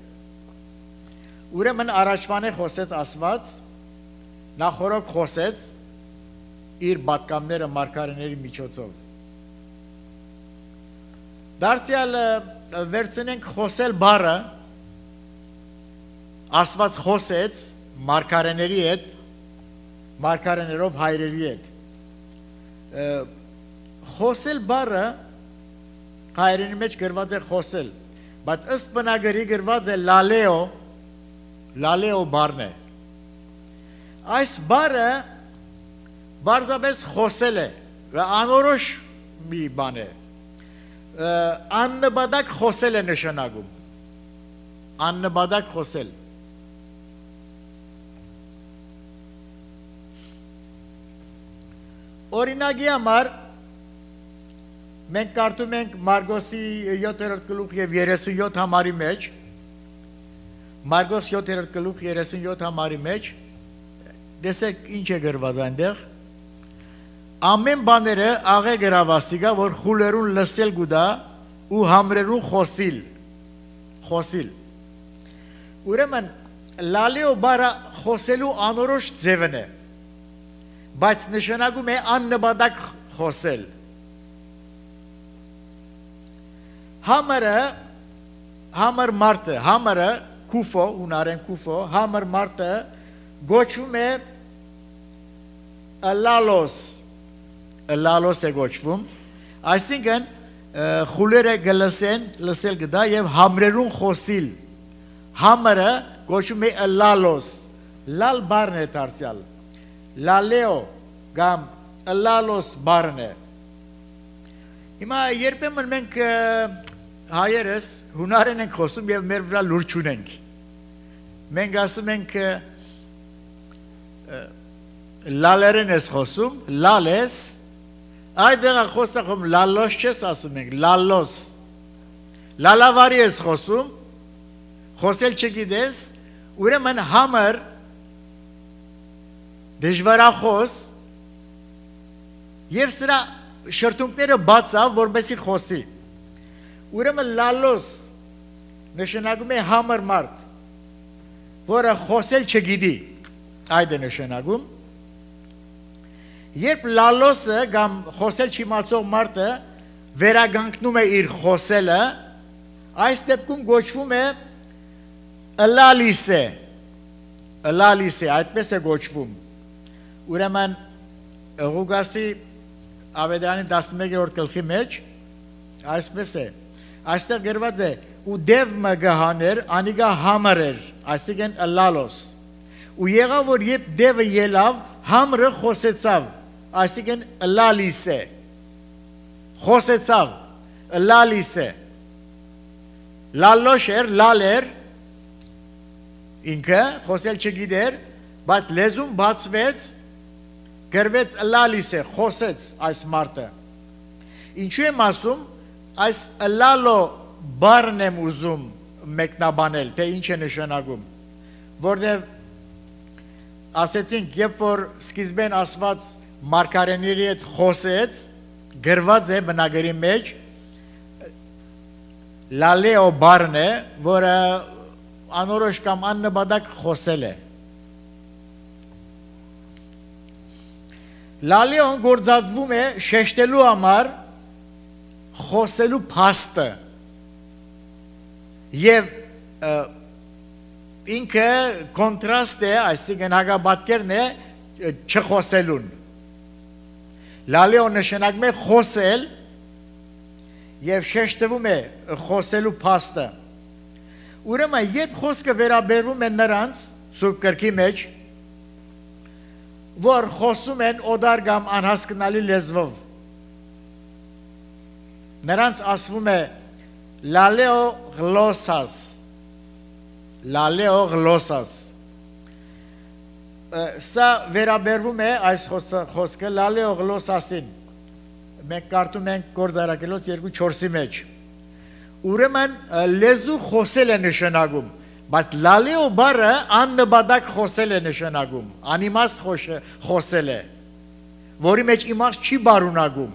Ուրեմն առաջվան է խոսեց Աստված, նախորոք խոսեց իր պատգամները մարգարեների միջոցով։ Դարձյալ վերցնենք խոսել բառը, Աստված խոսեց մարգարեների հետ, մարգարեներով հայրերի հետ։ Խոսել բառը հայրենի մեջ գրված է խոսել, բայց ըստ բնագրի գրված է լալեո, լալեո բառն է։ Այս բառը բարձրապես խոսել է, անորոշ մի բան է, աննպատակ խոսել է նշանակում, աննպատակ խոսել։ Օրինակի համար մենք կարդում ենք Մարգոսի յոթերորդ գլուխ եւ երեսունյոթ համարի մեջ, Մարգոս յոթերորդ գլուխ երեսունյոթ համարի մեջ, տեսեք ինչ է գրված այնտեղ, ամեն բաները աղե գրավասիգա, որ խուլերուն լսել գուդա ու համրերուն խոսիլ, խոսիլ։ Ուրեմն լալեո բառը խոսելու անորոշ ձևն է, բայց նշանակում է աննպատակ խոսել։ Համարը, համար մարդը, համարը, կուֆո, ունարեն կուֆո, համար մարդը գոչվում է լալոս, լալոս է գոչվում, այսինքն խուլերը գլսեն, լսել գդա և համրերուն խոսիլ, համարը գոչվում է լալոս, լալ բառն է դարձյալ, լալեո կամ լալոս բառն է։ Հիմա երբեմն մենք հայերս հունարեն ենք խոսում և մեր վրա լուր չունենք։ Մենք ասում ենք լալերեն ես խոսում, լալ ես, այդեղ խոսախում լալոս չես ասում ենք, լալոս, լալավարի ես խոսում, խոսել չգիտես, ուրեմն համր, դժվարախոս և սրա շրթունքները բացավ, որբեսի խոսի։ Ուրեմն լալոս նշանակում է համր մարդ, որը խոսել չգիտի, այդ է նշանակում։ Երբ լալոսը կամ խոսել չիմացող մարդը վերագանքնում է իր խոսելը, այս դեպքում գոչվում է լալիս է, լալիս է, այդպես է գոչվում։ Ուրեմն Ղուկասի ավետարանի տասնմեկերորդ գլխի մեջ այսպես է, այստեղ գրված է ու դև մը գահաներ անիգա համր էր, այսինքն լալոս, ու եղավ որ երբ դևը ելավ, համրը խոսեցավ, այսինքն լալիս է, խոսեցավ, լալիս է, լալոշ էր, լալ էր, ինքը խոսել չգիտեր, բայց լեզուն բացվեց, գրվեց լալիս է, խոսեց այս մարդը։ Ինչու եմ ասում, այս լալո բառն եմ ուզում մեկնաբանել, թե ինչ է նշանակում, որտեղ ասեցինք, երբ որ սկիզբեն ասված մարգարեների հետ խոսեց, գրված է բնագրի մեջ, լալեո բառն է, որը անորոշ կամ աննպատակ խոսել է։ Լալեոն գործածվում է շեշտելու համար խոսելու փաստը եւ ինքը կոնտրաստ է, այսինքն հակաբատկերն է չխոսելուն։ Լալեոն նշանակում է խոսել եւ շեշտվում է խոսելու փաստը։ Ուրեմն երբ խոսքը վերաբերվում է նրանց սուրբ գրքի մեջ, որ խոսում են օդար կամ անհասկանալի լեզվով, նրանց ասվում է լալեո գլոսաս, լալեո գլոսաս։ Սա վերաբերվում է այս խոսքը լալեո գլոսասին, մենք կարդում ենք Գործարակելոց երկու չորսի մեջ։ Ուրեմն լեզու խոսել է նշանակում, բայց լալեո բառը աննպատակ խոսել է նշանակում, անիմաստ խոսել է, որի մեջ իմաստ չի բարունակում։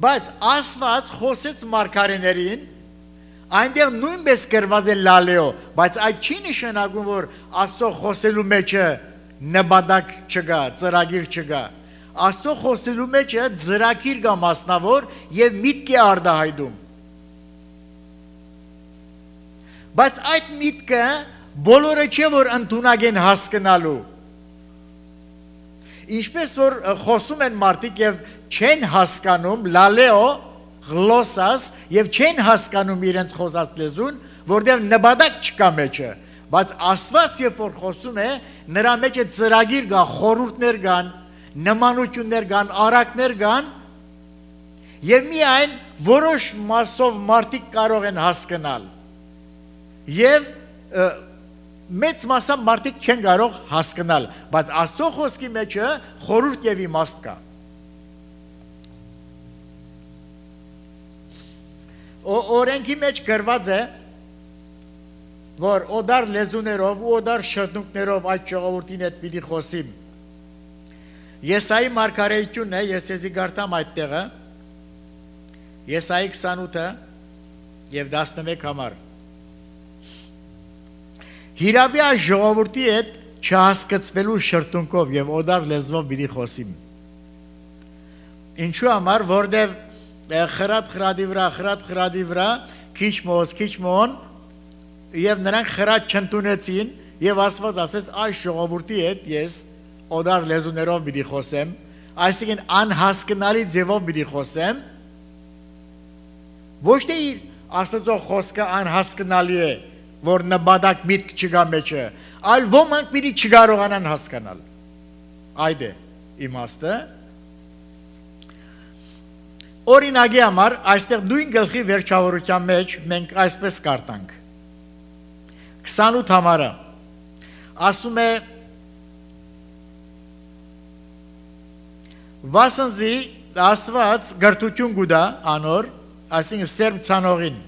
Բայց ասված խոսեց մարգարեներին, այնտեղ նույնպես գրված է լալեո, բայց այդ չի նշանակում, որ Աստծո խոսելու մեջը նպատակ չկա, ծրագիր չկա։ Աստծո խոսելու մեջը ծրագիր կա մասնավոր եւ միտք է արտահայտում։ Բայց այդ միտքը բոլորը չէ, որ ընդունակ են հասկանալու։ Ինչպես որ խոսում են մարդիկ եւ չեն հասկանում լալեո գլոսաս եւ չեն հասկանում իրենց խոսած լեզուն, որտեղ նպատակ չկա մեջը, բայց Աստված երբ որ խոսում է, նրա մեջ է ծրագիր կա, խորհուրդներ կան, նմանություններ կան, արակներ կան, եւ միայն որոշ մասով մարդիկ կարող են հասկանալ։ Եվ մեծ մասամբ մարդիկ չեն կարող հասկանալ, բայց Աստծո խոսքի մեջը խորհուրդ եւ իմաստ կա։ Օրենքի մեջ գրված է, որ օդար լեզուներով ու օդար շրթունքներով այդ ժողովրդին հետ պիտի խոսիմ։ Եսայի մարգարեությունն է, ես եզի գարտամ այդ տեղը, Եսայի քսանութը եւ տասնմեկ համար։ Հիրավի այս ժողովրդի հետ չհասկացվելու շրթունքով եւ օդար լեզվով պիտի խոսիմ։ Ինչու համար, որտեղ խրատ խրադի վրա, խրատ խրադի վրա, քիչ մոz, քիչ մոն, եւ նրանք խրատ չընդունեցին, եւ Աստված ասեց այս ժողովրդի հետ ես օդար լեզուներով պիտի խոսեմ, այսինքն անհասկանալի ձևով պիտի խոսեմ, ոչ թե Աստծո խոսքը անհասկանալի է, որ նպատակ միտք չկա մեջը, այլ ոմանք պիտի չկարողանան հասկանալ։ Այդ է իմաստը։ Օրինակի համար, այստեղ նույն գլխի վերջավորության մեջ մենք այսպես կարդանք։ քսանութ համարը ասում է վասնզի ասված գրթություն գուտա անոր, այսինքն սերմ ցանողին,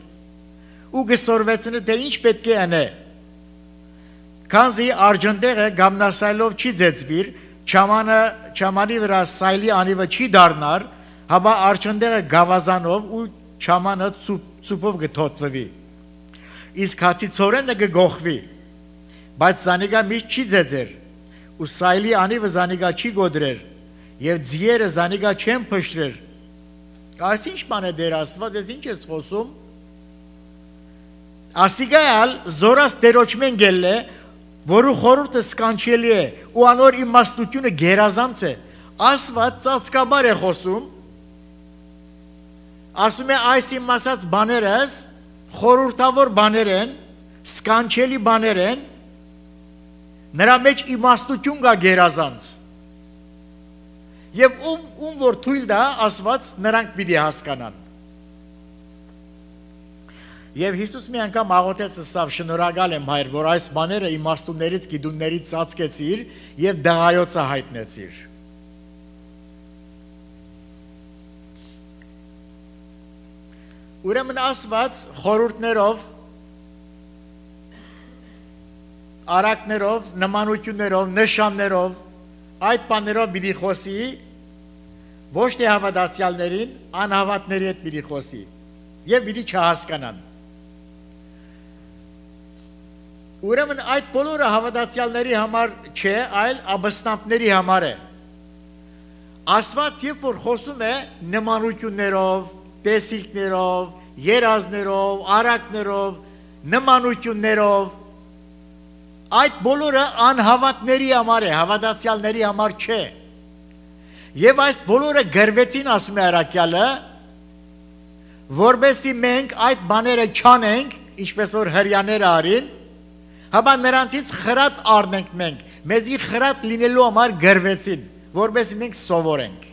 ու գսորվեցնի թե ինչ պետք է անե։ Քանզի արջնտեղը գամնասայլով չի ձեծվիր, չամանը չամանի վրա սայլի անիվը չի դառնար, հաբա արջնտեղը գավազանով ու չամանը ցուպով գթոթվի։ Իսկ հացիցորենը գողվի, բայց զանիգա միշտ չի ձեծեր, ու սայլի անիվը զանիգա չի գոդրեր, եւ ձիերը զանիգա չեն փշրեր։ Այս ինչ բան է դեր Աստված, ես ինչ ես խոսում։ Ասիգայալ զորաս դերոճմեն գելլե, որու խորուրդը սկանչելի է, ու անոր իմաստությունը գերազանց է, Աստված ծածկաբար է խոսում, ասում է այս իմ ասած բաներս, խորուրդավոր բաներ են, սկանչելի բաներ են, նրա մեջ իմաստություն կա գերազանց, եւ ում, ում որ թույլ դա Աստված նրանք պիտի հասկանան։ Եվ Հիսուս մի անգամ աղոթեց ասավ շնորհակալ եմ հայր, որ այս բաները իմաստուններից, գիտուններից ծածկեցիր եւ դղայոցը հայտնեցիր։ Ուրեմն Աստված խորհուրդներով, արակներով, նմանություններով, նշաններով, այդ բաներով պիտի խոսի ոչ թե հավատացյալներին, անհավատների հետ պիտի խոսի եւ պիտի չհասկանան։ Ուրեմն այդ բոլորը հավատացյալների համար չէ, այլ աբստամբների համար է։ Աստված երբ որ խոսում է նմանություններով, տեսիլքներով, երազներով, արակներով, նմանություններով, այդ բոլորը անհավատների համար է, հավատացյալների համար չէ։ Եվ այս բոլորը գրվեցին, ասում է առաքյալը, որբեսի մենք այդ բաները չանենք, ինչպես որ հրյաները արին, հապա նրանցից խրատ առնենք մենք, մեզի խրատ լինելու համար գրվեցին, որբեսի մենք սովորենք։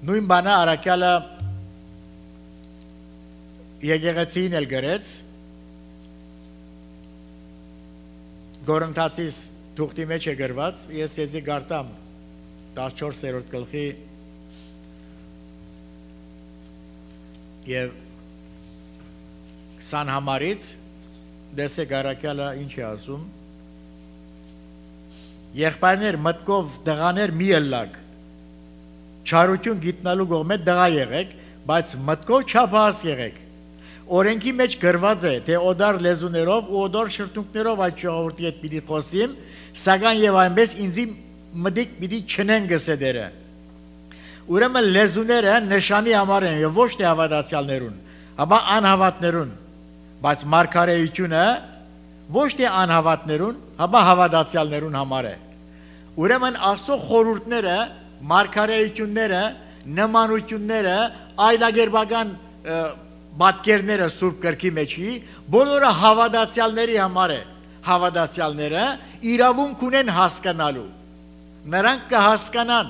Նույն բանը առաքյալը եկեղեցին էլ գրեց, Գորընթացիս թուղթի մեջ է գրված, ես եզի գարտամ տասնչորսերորդ գլխի եւ քսան համարից դեսեք առաքյալը ինչ է ասում. Եղբայրներ մտքով դղաներ մի ըլլակ, չարություն գիտնալու կողմը դղա եղեք, բայց մտքով չափահաս եղեք։ Օրենքի մեջ գրված է, թե օդար լեզուներով ու օդար շրթունքներով այդ ժողովրդի հետ պիտի խոսիմ, սակայն եւ այնպես ինձի մտիկ պիտի չնեն գսեդերը։ Ուրեմն լեզուները նշանի համար են եւ ոչ թե հավատացյալներուն, ապա անհավատներուն, բայց մարգարեությունը ոչ թե անհավատներուն, ապա հավատացյալներուն համար է։ Ուրեմն Աստծո խորհուրդները, մարգարեությունները, նմանությունները, այլագերբական պատկերները Սուրբ Գրքի մեջի բոլորը հավատացյալների համար է։ Հավատացյալները իրավունք ունեն հասկանալու։ Նրանք կհասկանան,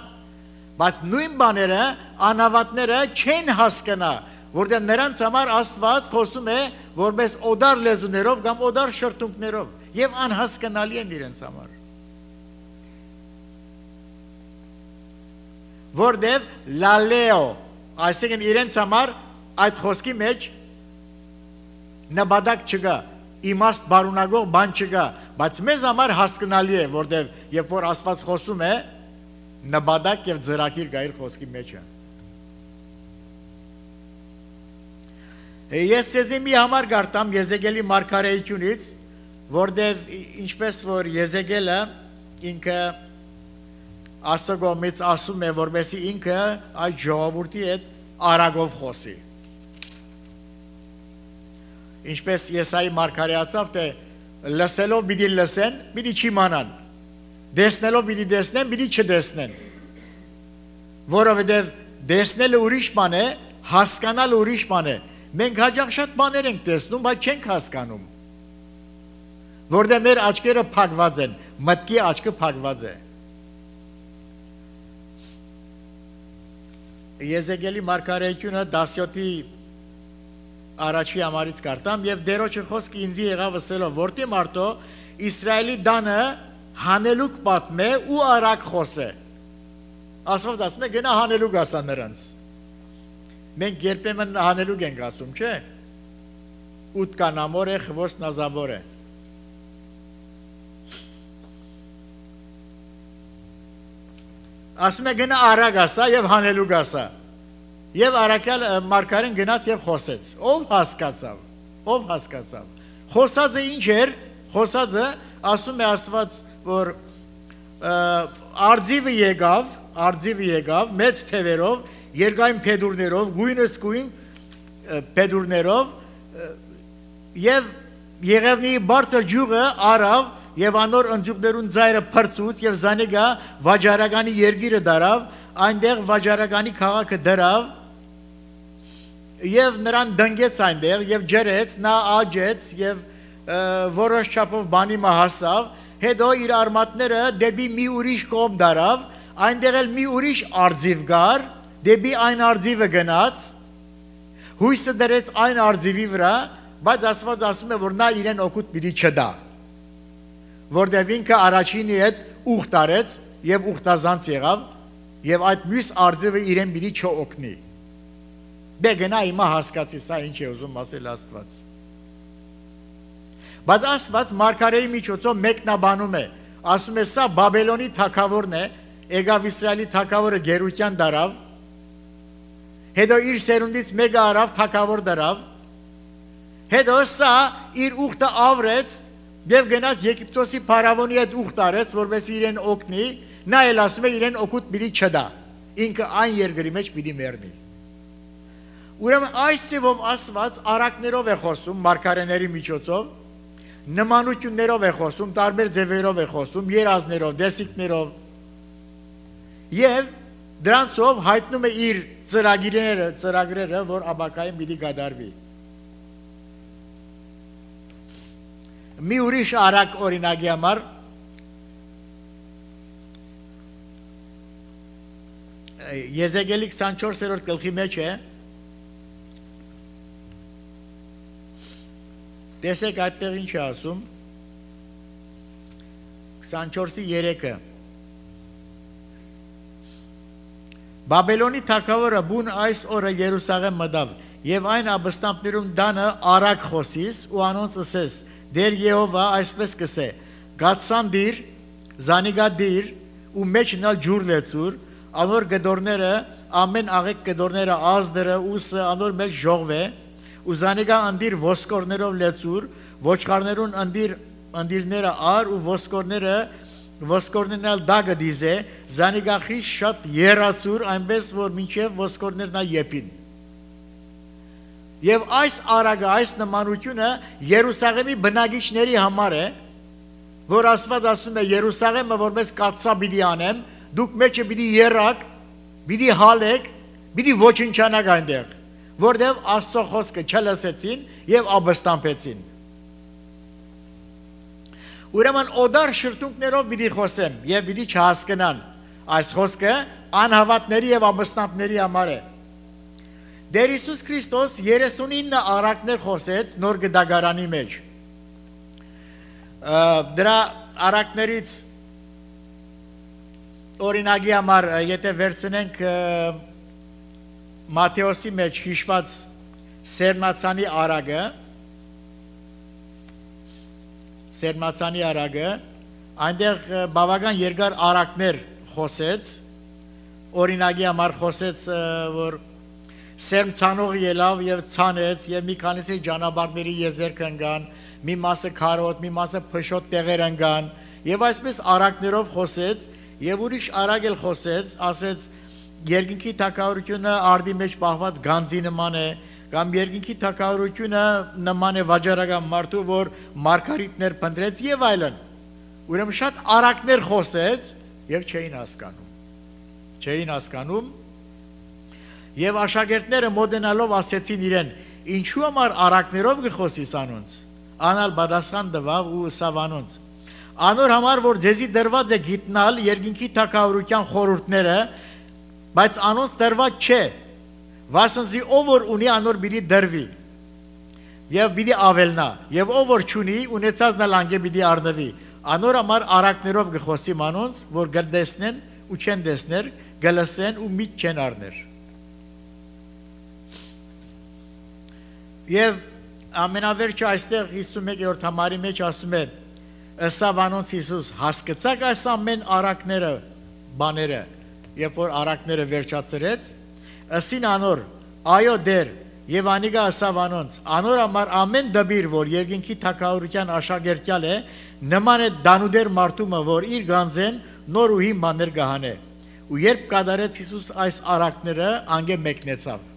բայց նույն բաները անհավատները չեն հասկանա, որտեղ նրանց համար Աստված խոսում է որպես օդար լեզուներով կամ օդար շրթունքներով եւ անհասկանալի են իրենց համար։ Որտեղ լալեո, այսինքն իրենց համար այդ խոսքի մեջ նպատակ չկա, իմաստ բարունագող բան չկա, բայց մեզ համար հասկանալի է, որտեղ երբ որ Աստված խոսում է, նպատակ եւ ծրագիր կա իր խոսքի մեջ է։ Ես ցեզի մի համար գարտամ Եզեկիելի մարգարեությունից, որտեղ ինչպես որ Եզեկիելը ինքը Աստծո կողմից ասում է, որպեսզի ինքը այդ ժողովրդի հետ արագով խոսի։ Ինչպես Եսայի մարգարեացավ, թե լսելով պիտի լսեն, պիտի չիմանան, տեսնելով պիտի տեսնեն, պիտի չտեսնեն, որովհետև տեսնելը ուրիշ բան է, հասկանալը ուրիշ բան է։ Մենք հաճախ շատ բաներ ենք տեսնում, բայց չենք հասկանում, որտեղ մեր աչքերը փակված են, մտքի աչքը փակված է։ Եզեկիելի մարգարեությունը դասյոթի առաջի համարից կարտամ եւ դերոջը խոսքը ինձի եղավ ասելով, որտի մարդո Իսրայելի դանը հանելուկ պատմե ու արագ խոսե։ Աստված ասում է գնա հանելուկ ասա նրանց։ Մենք երբեմն հանելուկ ենք ասում, չէ՞։ Ուտկանամոր է, խվոս նազաբոր է։ Ասում է գնա արագ ասա եւ հանելուկ ասա։ Եվ առաքյալ մարգարեն գնաց եւ խոսեց։ Ով հասկացավ, ով հասկացավ։ Խոսածը ինչ էր, խոսածը ասում է Աստված, որ արձիվը եկավ, արձիվը եկավ մեծ թևերով, երկայն փեդուրներով, գույնս գույն փեդուրներով եւ Եղևնի բարձր ջուղը արավ եւ անոր ընձյուկներուն ծայրը փրծուց եւ զանեգա վաճառականի երգիրը դարավ, այնտեղ վաճառականի քաղաքը դրավ եւ նրան դնգեց այնտեղ եւ ջրեց, նա աջեց եւ որոշ չափով բանի մահասավ հետո իր արմատները դեպի մի ուրիշ կողմ դարավ, այնտեղ էլ մի ուրիշ արձիվ գար, դեպի այն արձիվը գնաց, հույսը դրեց այն արձիվի վրա, բայց Աստված ասում է, որ նա իրեն օգուտ պիտի չտա, որտեղ ինքը առաջինի հետ ուխտ արեց եւ ուխտազանց եղավ եւ այդ մյուս արձիվը իրեն պիտի չօգնի։ Դե գնա հիմա հասկացի սա ինչ է ուզում ասել Աստված։ Բայց Աստված մարգարեի միջոցով մեկնաբանում է, ասում է սա Բաբելոնի թագավորն է, եկավ Իսրայելի թագավորը գերության դարավ, հետո իր սերունդից մեկը արավ թագավոր դարավ, հետո սա իր ուխտը ավրեց եւ գնաց Եգիպտոսի փարավոնի հետ ուխտ արեց, որովհետեւ իրեն օգնի, նա էլ ասում է իրեն օգուտ պիտի չտա, ինքը այն երկրի մեջ պիտի մեռնի։ Ուրեմն այս ձևով Աստված արակներով է խոսում մարգարեների միջոցով, նմանություններով է խոսում, տարբեր ձևերով է խոսում, երազներով, դեսիկներով եւ դրանցով հայտնում է իր ծրագիրները, ծրագրերը, որ ապակային պիտի գդարվի։ Մի ուրիշ արակ օրինակի համար Եզեկիելի քսանչորսերորդ գլխի մեջ է, տեսեք այդտեղ ինչ է ասում, քսանչորսի երեքը, Բաբելոնի թագավորը բուն այս օրը Երուսաղեմ մտավ, եւ այն աբստամբներում դանը արակ խոսիս ու անոնց ասես, դեր Եհովա այսպես կսե, գացանդիր, զանիգադիր ու մեջ նալ ջուր լեցուր, անոր գդորները, ամեն աղեկ գդորները ազդրը ուսը անոր մեջ ժողվե, ու զանիգա անդիր ոսկորներով լեցուր, ոչխարներուն անդիր անդիրները ար ու ոսկորները ոսկորներն ալ դագը դիզե, զանիգա խիս շատ երացուր, այնպես որ մինչև ոսկորներն ալ եպին։ Եվ այս արագը, այս նմանությունը Երուսաղեմի բնակիչների համար է, որ Աստված ասում է Երուսաղեմը որպես կաթսա պիտի անեմ, դուք մեջը պիտի երակ, պիտի հալեք, պիտի ոչնչանաք այնտեղ, որտեղ Աստծո խոսքը չլսեցին եւ աբստամբեցին։ Ուրեմն օդար շրթունքներով պիտի խոսեմ եւ պիտի չհասկանան այս խոսքը անհավատների եւ աբստամբների համար է։ Դեր Հիսուս Քրիստոս երեսունինը արակներ խոսեց նոր գդագարանի մեջ։ Դրա արակներից օրինակի համար, եթե վերցնենք Մատթեոսի մեջ հիշված Սերմացանի արագը, Սերմացանի արագը, այնտեղ բավական երկար արակներ խոսեց, օրինակի համար խոսեց, որ Սերմ ցանող ելավ եւ ցանեց եւ մի քանիսի ճանապարհների եզերք ընկան, մի մասը քարոտ, մի մասը փշոտ տեղեր ընկան եւ այսպես արակներով խոսեց եւ ուրիշ արագ էլ խոսեց, ասեց երկինքի թակավորությունը արդի մեջ պահված գանձի նման է, կամ երկինքի թակավորությունը նման է վաճառական մարդու, որ մարգարիտներ փնտրեց եւ այլն։ Ուրեմն շատ արակներ խոսեց եւ չէին հասկանում։ Չէին հասկանում Եվ աշակերտները մոդենալով ասեցին իրեն, ինչու համար արակներով գխոսիս անոնց, անալ բադասխան դվավ ու ըսավ անոնց, անոր համար, որ ձեզի դրված է գիտնալ երկինքի թագավորության խորհուրդները, բայց անոնց դրված չէ, վասնզի ով որ ունի անոր բիդի դրվի, եւ բիդի ավելնա, եւ ով որ չունի, ունեցածն էլ անգե բիդի առնվի, անոր համար արակներով գխոսիմ անոնց, որ գլդեսնեն ու չեն դեսներ, գլսեն ու միտ չեն առներ։ Եվ ամենավերջը այստեղ հիսունմեկերորդ համարի մեջ ասում է, ըսավ անոնց Հիսուս, հասկացաք այս ամեն արակները, բաները, երբ որ արակները վերջացրեց, ըսին անոր, այո դեր, եւ անիգա ըսավ անոնց, անոր համար ամեն դբիր, որ երկինքի թագավորության աշակերտյալ է, նման է դանուդեր մարդումը, որ իր գանձեն նոր ու հին բաներ գահանե։ Ու երբ կատարեց Հիսուս այս արակները, անգե մեկնեցավ։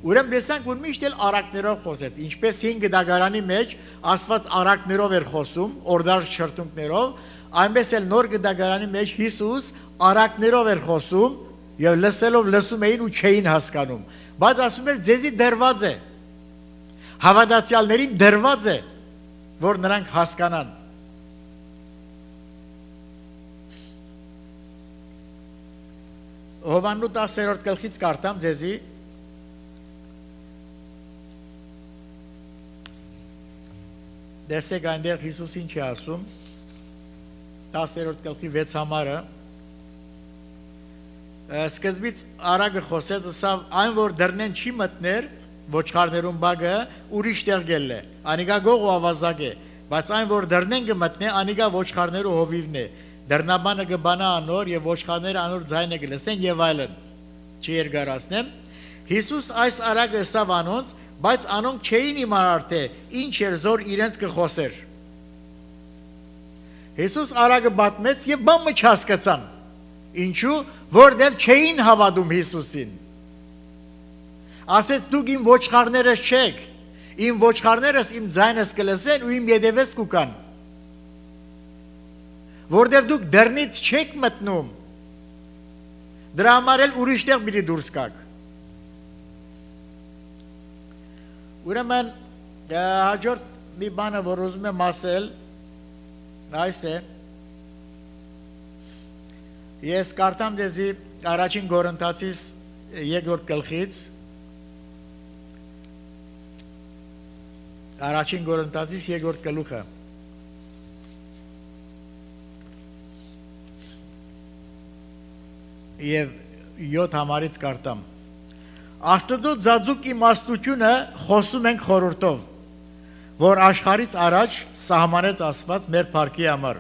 Ուրեմն տեսանք, որ միշտ էլ արակներով խոսեց, ինչպես հին գդագարանի մեջ Աստված արակներով էր խոսում, օրդար շրթունքներով, այնպես էլ նոր գդագարանի մեջ Հիսուս արակներով էր խոսում եւ լսելով լսում էին ու չէին հասկանում, բայց ասում էր ձեզի դրված է, հավատացյալներին դրված է, որ նրանք հասկանան։ Հովաննու տասերորդ գլխից կարդամ ձեզի դեսեք այնտեղ Հիսուսին չի ասում տասերորդ գլխի վեց համարը սկզբից արագը խոսեց ասավ այն որ դռնեն չի մտներ ոչխարներուն բագը ուրիշ տեղ գելն է անիկա գող ու ավազակ է բայց այն որ դռնեն կմտնե անիկա ոչխարներու հովիվն է դռնաբանը կբանա անոր եւ ոչխարները անոր ձայնը կլսեն եւ այլն չի երկարացնեմ Հիսուս այս արագը ասավ անոնց բայց անոնք չէին իմանար թե ինչ էր զոր իրենց կխոսեր Հիսուս արագը բատմեց եւ բամը չհասկացան ինչու որտեղ չէին հավատում Հիսուսին ասեց դուք իմ ոչխարներս չեք իմ ոչխարներս իմ ձայնս կլսեն ու իմ ետևես կուկան որտեղ դուք դռնից չեք մտնում դրա համար էլ ուրիշ տեղ պիտի դուրս գաք ուրեմն հաջորդ մի բանը որ ուզում եմ ասել այս է ես կարդամ ձեզի առաջին Կորինթացիս երկրորդ գլխից առաջին Կորինթացիս երկրորդ գլուխը եւ յոթ համարից կարդամ Աստծո ձաձուկ իմաստությունը խոսում ենք խորհրդով, որ աշխարից առաջ սահմանեց Աստված մեր փառքի համար։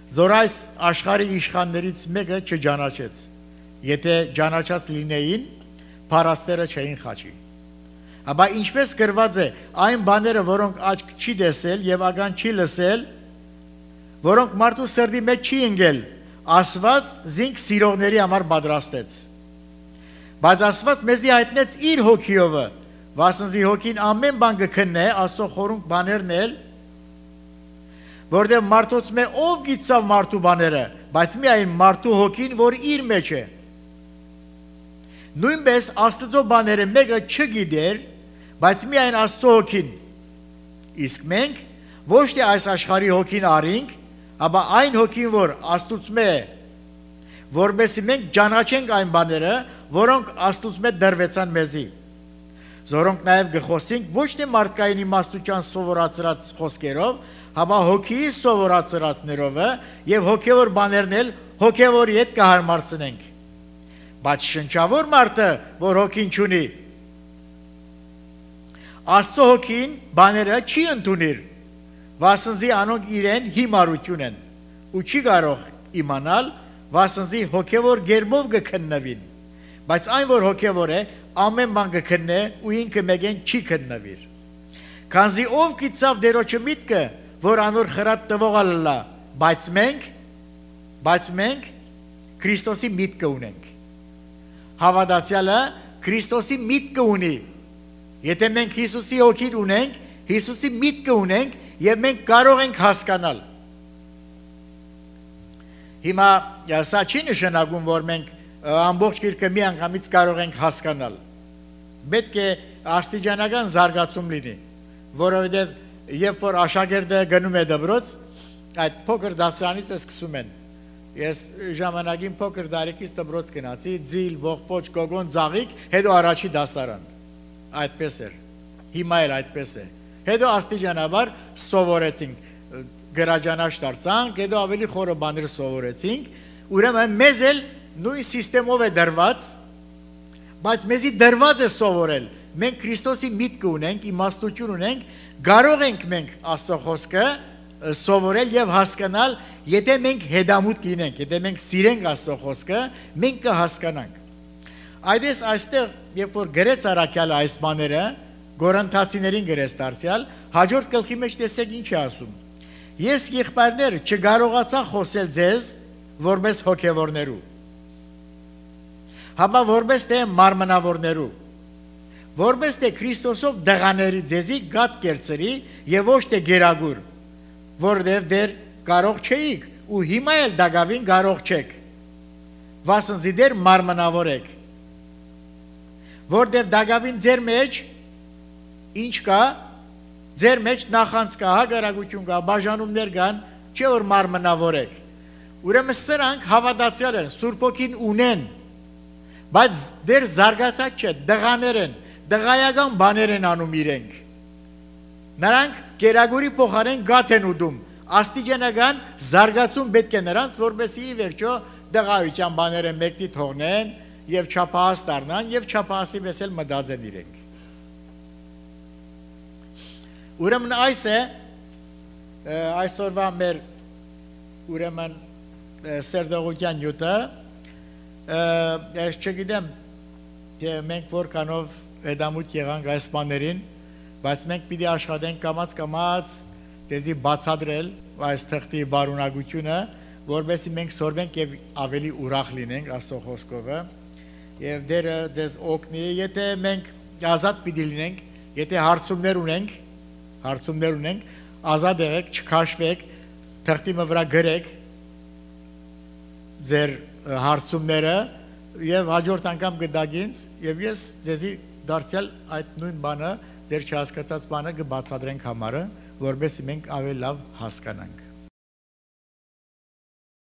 Զոր այս աշխարհի իշխաններից մեկը չճանաչեց։ Եթե ճանաչած լինեին, փառաստերը չէին խաչի։ Աբա ինչպես գրված է, այն բաները, որոնք աչք չի տեսել եւ ագան չի լսել, որոնք մարդու սրտի մեջ չի ընկել, Աստված զինք սիրողների համար պատրաստեց։ Բայց Աստված մեզի հայտնեց իր հոգիովը, վասնզի հոգին ամեն բան կքննե, Աստծո խորհուրդ բաներն էլ, որտեղ մարդոց մե ով գիտավ մարդու բաները, բայց միայն մարդու հոգին, որ իր մեջ է։ Նույնպես Աստծո բաները մեկը չգիտեր, բայց միայն Աստծո հոգին։ Իսկ մենք ոչ թե այս աշխարհի հոգին արինք, ապա այն հոգին, որ Աստծո է, որովհետեւ մենք ճանաչենք այն բաները, որոնք Աստծո դրվեցան մեզի։ Զորոնք նաև գխոսենք ոչ թե մարդկային իմաստության սովորացրած խոսքերով, հապա հոգիի սովորացրածներով եւ հոգեվոր բաներն էլ հոգեվորի հետ կհարմարցնենք։ Բայց շնչավոր մարդը, որ հոգին չունի, Աստծո հոգին բաները չի ընդունիր, վասնզի անոնք իրեն հիմարություն են, ու չի կարող իմանալ, վասնզի հոգևոր գերբով կքննվին, բայց այն որ հոգևոր է, ամեն բան կքննե ու ինքը մեկեն չի քննվիր։ Քանզի ով գիտավ դերոջը միտքը, որ անոր խրատ տվողը լա, բայց մենք, բայց մենք Քրիստոսի միտքը ունենք։ Հավատացյալը Քրիստոսի միտքը ունի։ Եթե մենք Հիսուսի հոգին ունենք, Հիսուսի միտքը ունենք եւ մենք կարող ենք հասկանալ։ Հիմա սա չի նշանակում, որ մենք ամբողջ գիրքը մի անգամից կարող ենք հասկանալ։ Պետք է աստիճանական զարգացում լինի, որովհետև երբ որ աշակերտը գնում է դպրոց, այդ փոքր դասարանից է սկսում են։ Ես ժամանակին փոքր տարիքից դպրոց գնացի, ձիլ, ողբոջ, գոգոն, ծաղիկ, հետո առաջի դասարան։ Այդպես էր։ Հիմա էլ այդպես է։ Հետո աստիճանաբար սովորեցինք, գրաջանաշ դարձանք, հետո ավելի խորը բաներ սովորեցինք, ուրեմն մեզ էլ նույն սիստեմով է դրված, բայց մեզի դրված է սովորել։ Մենք Քրիստոսի միտքը ունենք, իմաստություն ունենք, կարող ենք մենք Աստծո խոսքը սովորել եւ հասկանալ, եթե մենք հետամուտ լինենք, եթե մենք սիրենք Աստծո խոսքը, մենք կհասկանանք։ Այդպես այստեղ, երբ որ գրեց Առաքյալը այս բաները, Կորինթացիներին գրեց դարձյալ, հաջորդ գլխի մեջ տեսեք ինչ է ասում։ Ես եղբայրներ չկարողացա խոսել ձեզ որպես հոգևորներու, հապա որպես թե մարմնավորներու, որպես թե Քրիստոսով դղաների ձեզի գատ կերծրի եւ ոչ թե գերագուր, որովհետեւ դեր կարող չէիք ու հիմա էլ դակավին կարող չեք, վասնզի դեր մարմնավոր եք, որովհետեւ դակավին ձեր մեջ ինչ կա, ձեր մեջ նախանց կա, հագարակություն կա, բաժանումներ կան, չէ որ մարմնավոր եք։ Ուրեմն սրանք հավատացյալ են, Սուրբ Հոգին ունեն, բայց դեր զարգացած չէ, դղաներ են, դղայական բաներ են անում իրենք։ Նրանք կերագուրի փոխարեն գաթ են ուտում, աստիճանական զարգացում պետք է նրանց, որպեսզի վերջո դղայության բաները մեկնի թողնեն եւ չափահաս դառնան եւ չափահասի պես էլ մտածեն իրենք։ Ուրեմն այս է այսօրվա մեր ուրեմն սերդողության նյութը, ես չգիտեմ, թե մենք որքանով հետամուտ եղանք այս բաներին, բայց մենք պիտի աշխատենք կամաց-կամաց ձեզի բացատրել այս թղթի բարունակությունը, որովհետեւ մենք սորվենք եւ ավելի ուրախ լինենք Աստծո խոսքովը, եւ դերը ձեզ օգնի, եթե մենք ազատ պիտի լինենք, եթե հարցումներ ունենք, հարցումներ ունենք, ազատ եղեք, չքաշվեք, թղթի վրա գրեք ձեր հարցումները եւ հաջորդ անգամ գտագինց եւ ես ձեզի դարձյալ այդ նույն բանը, ձեր չհասկացած բանը կբացատրենք համարը, որովհետեւ մենք ավելի լավ հասկանանք։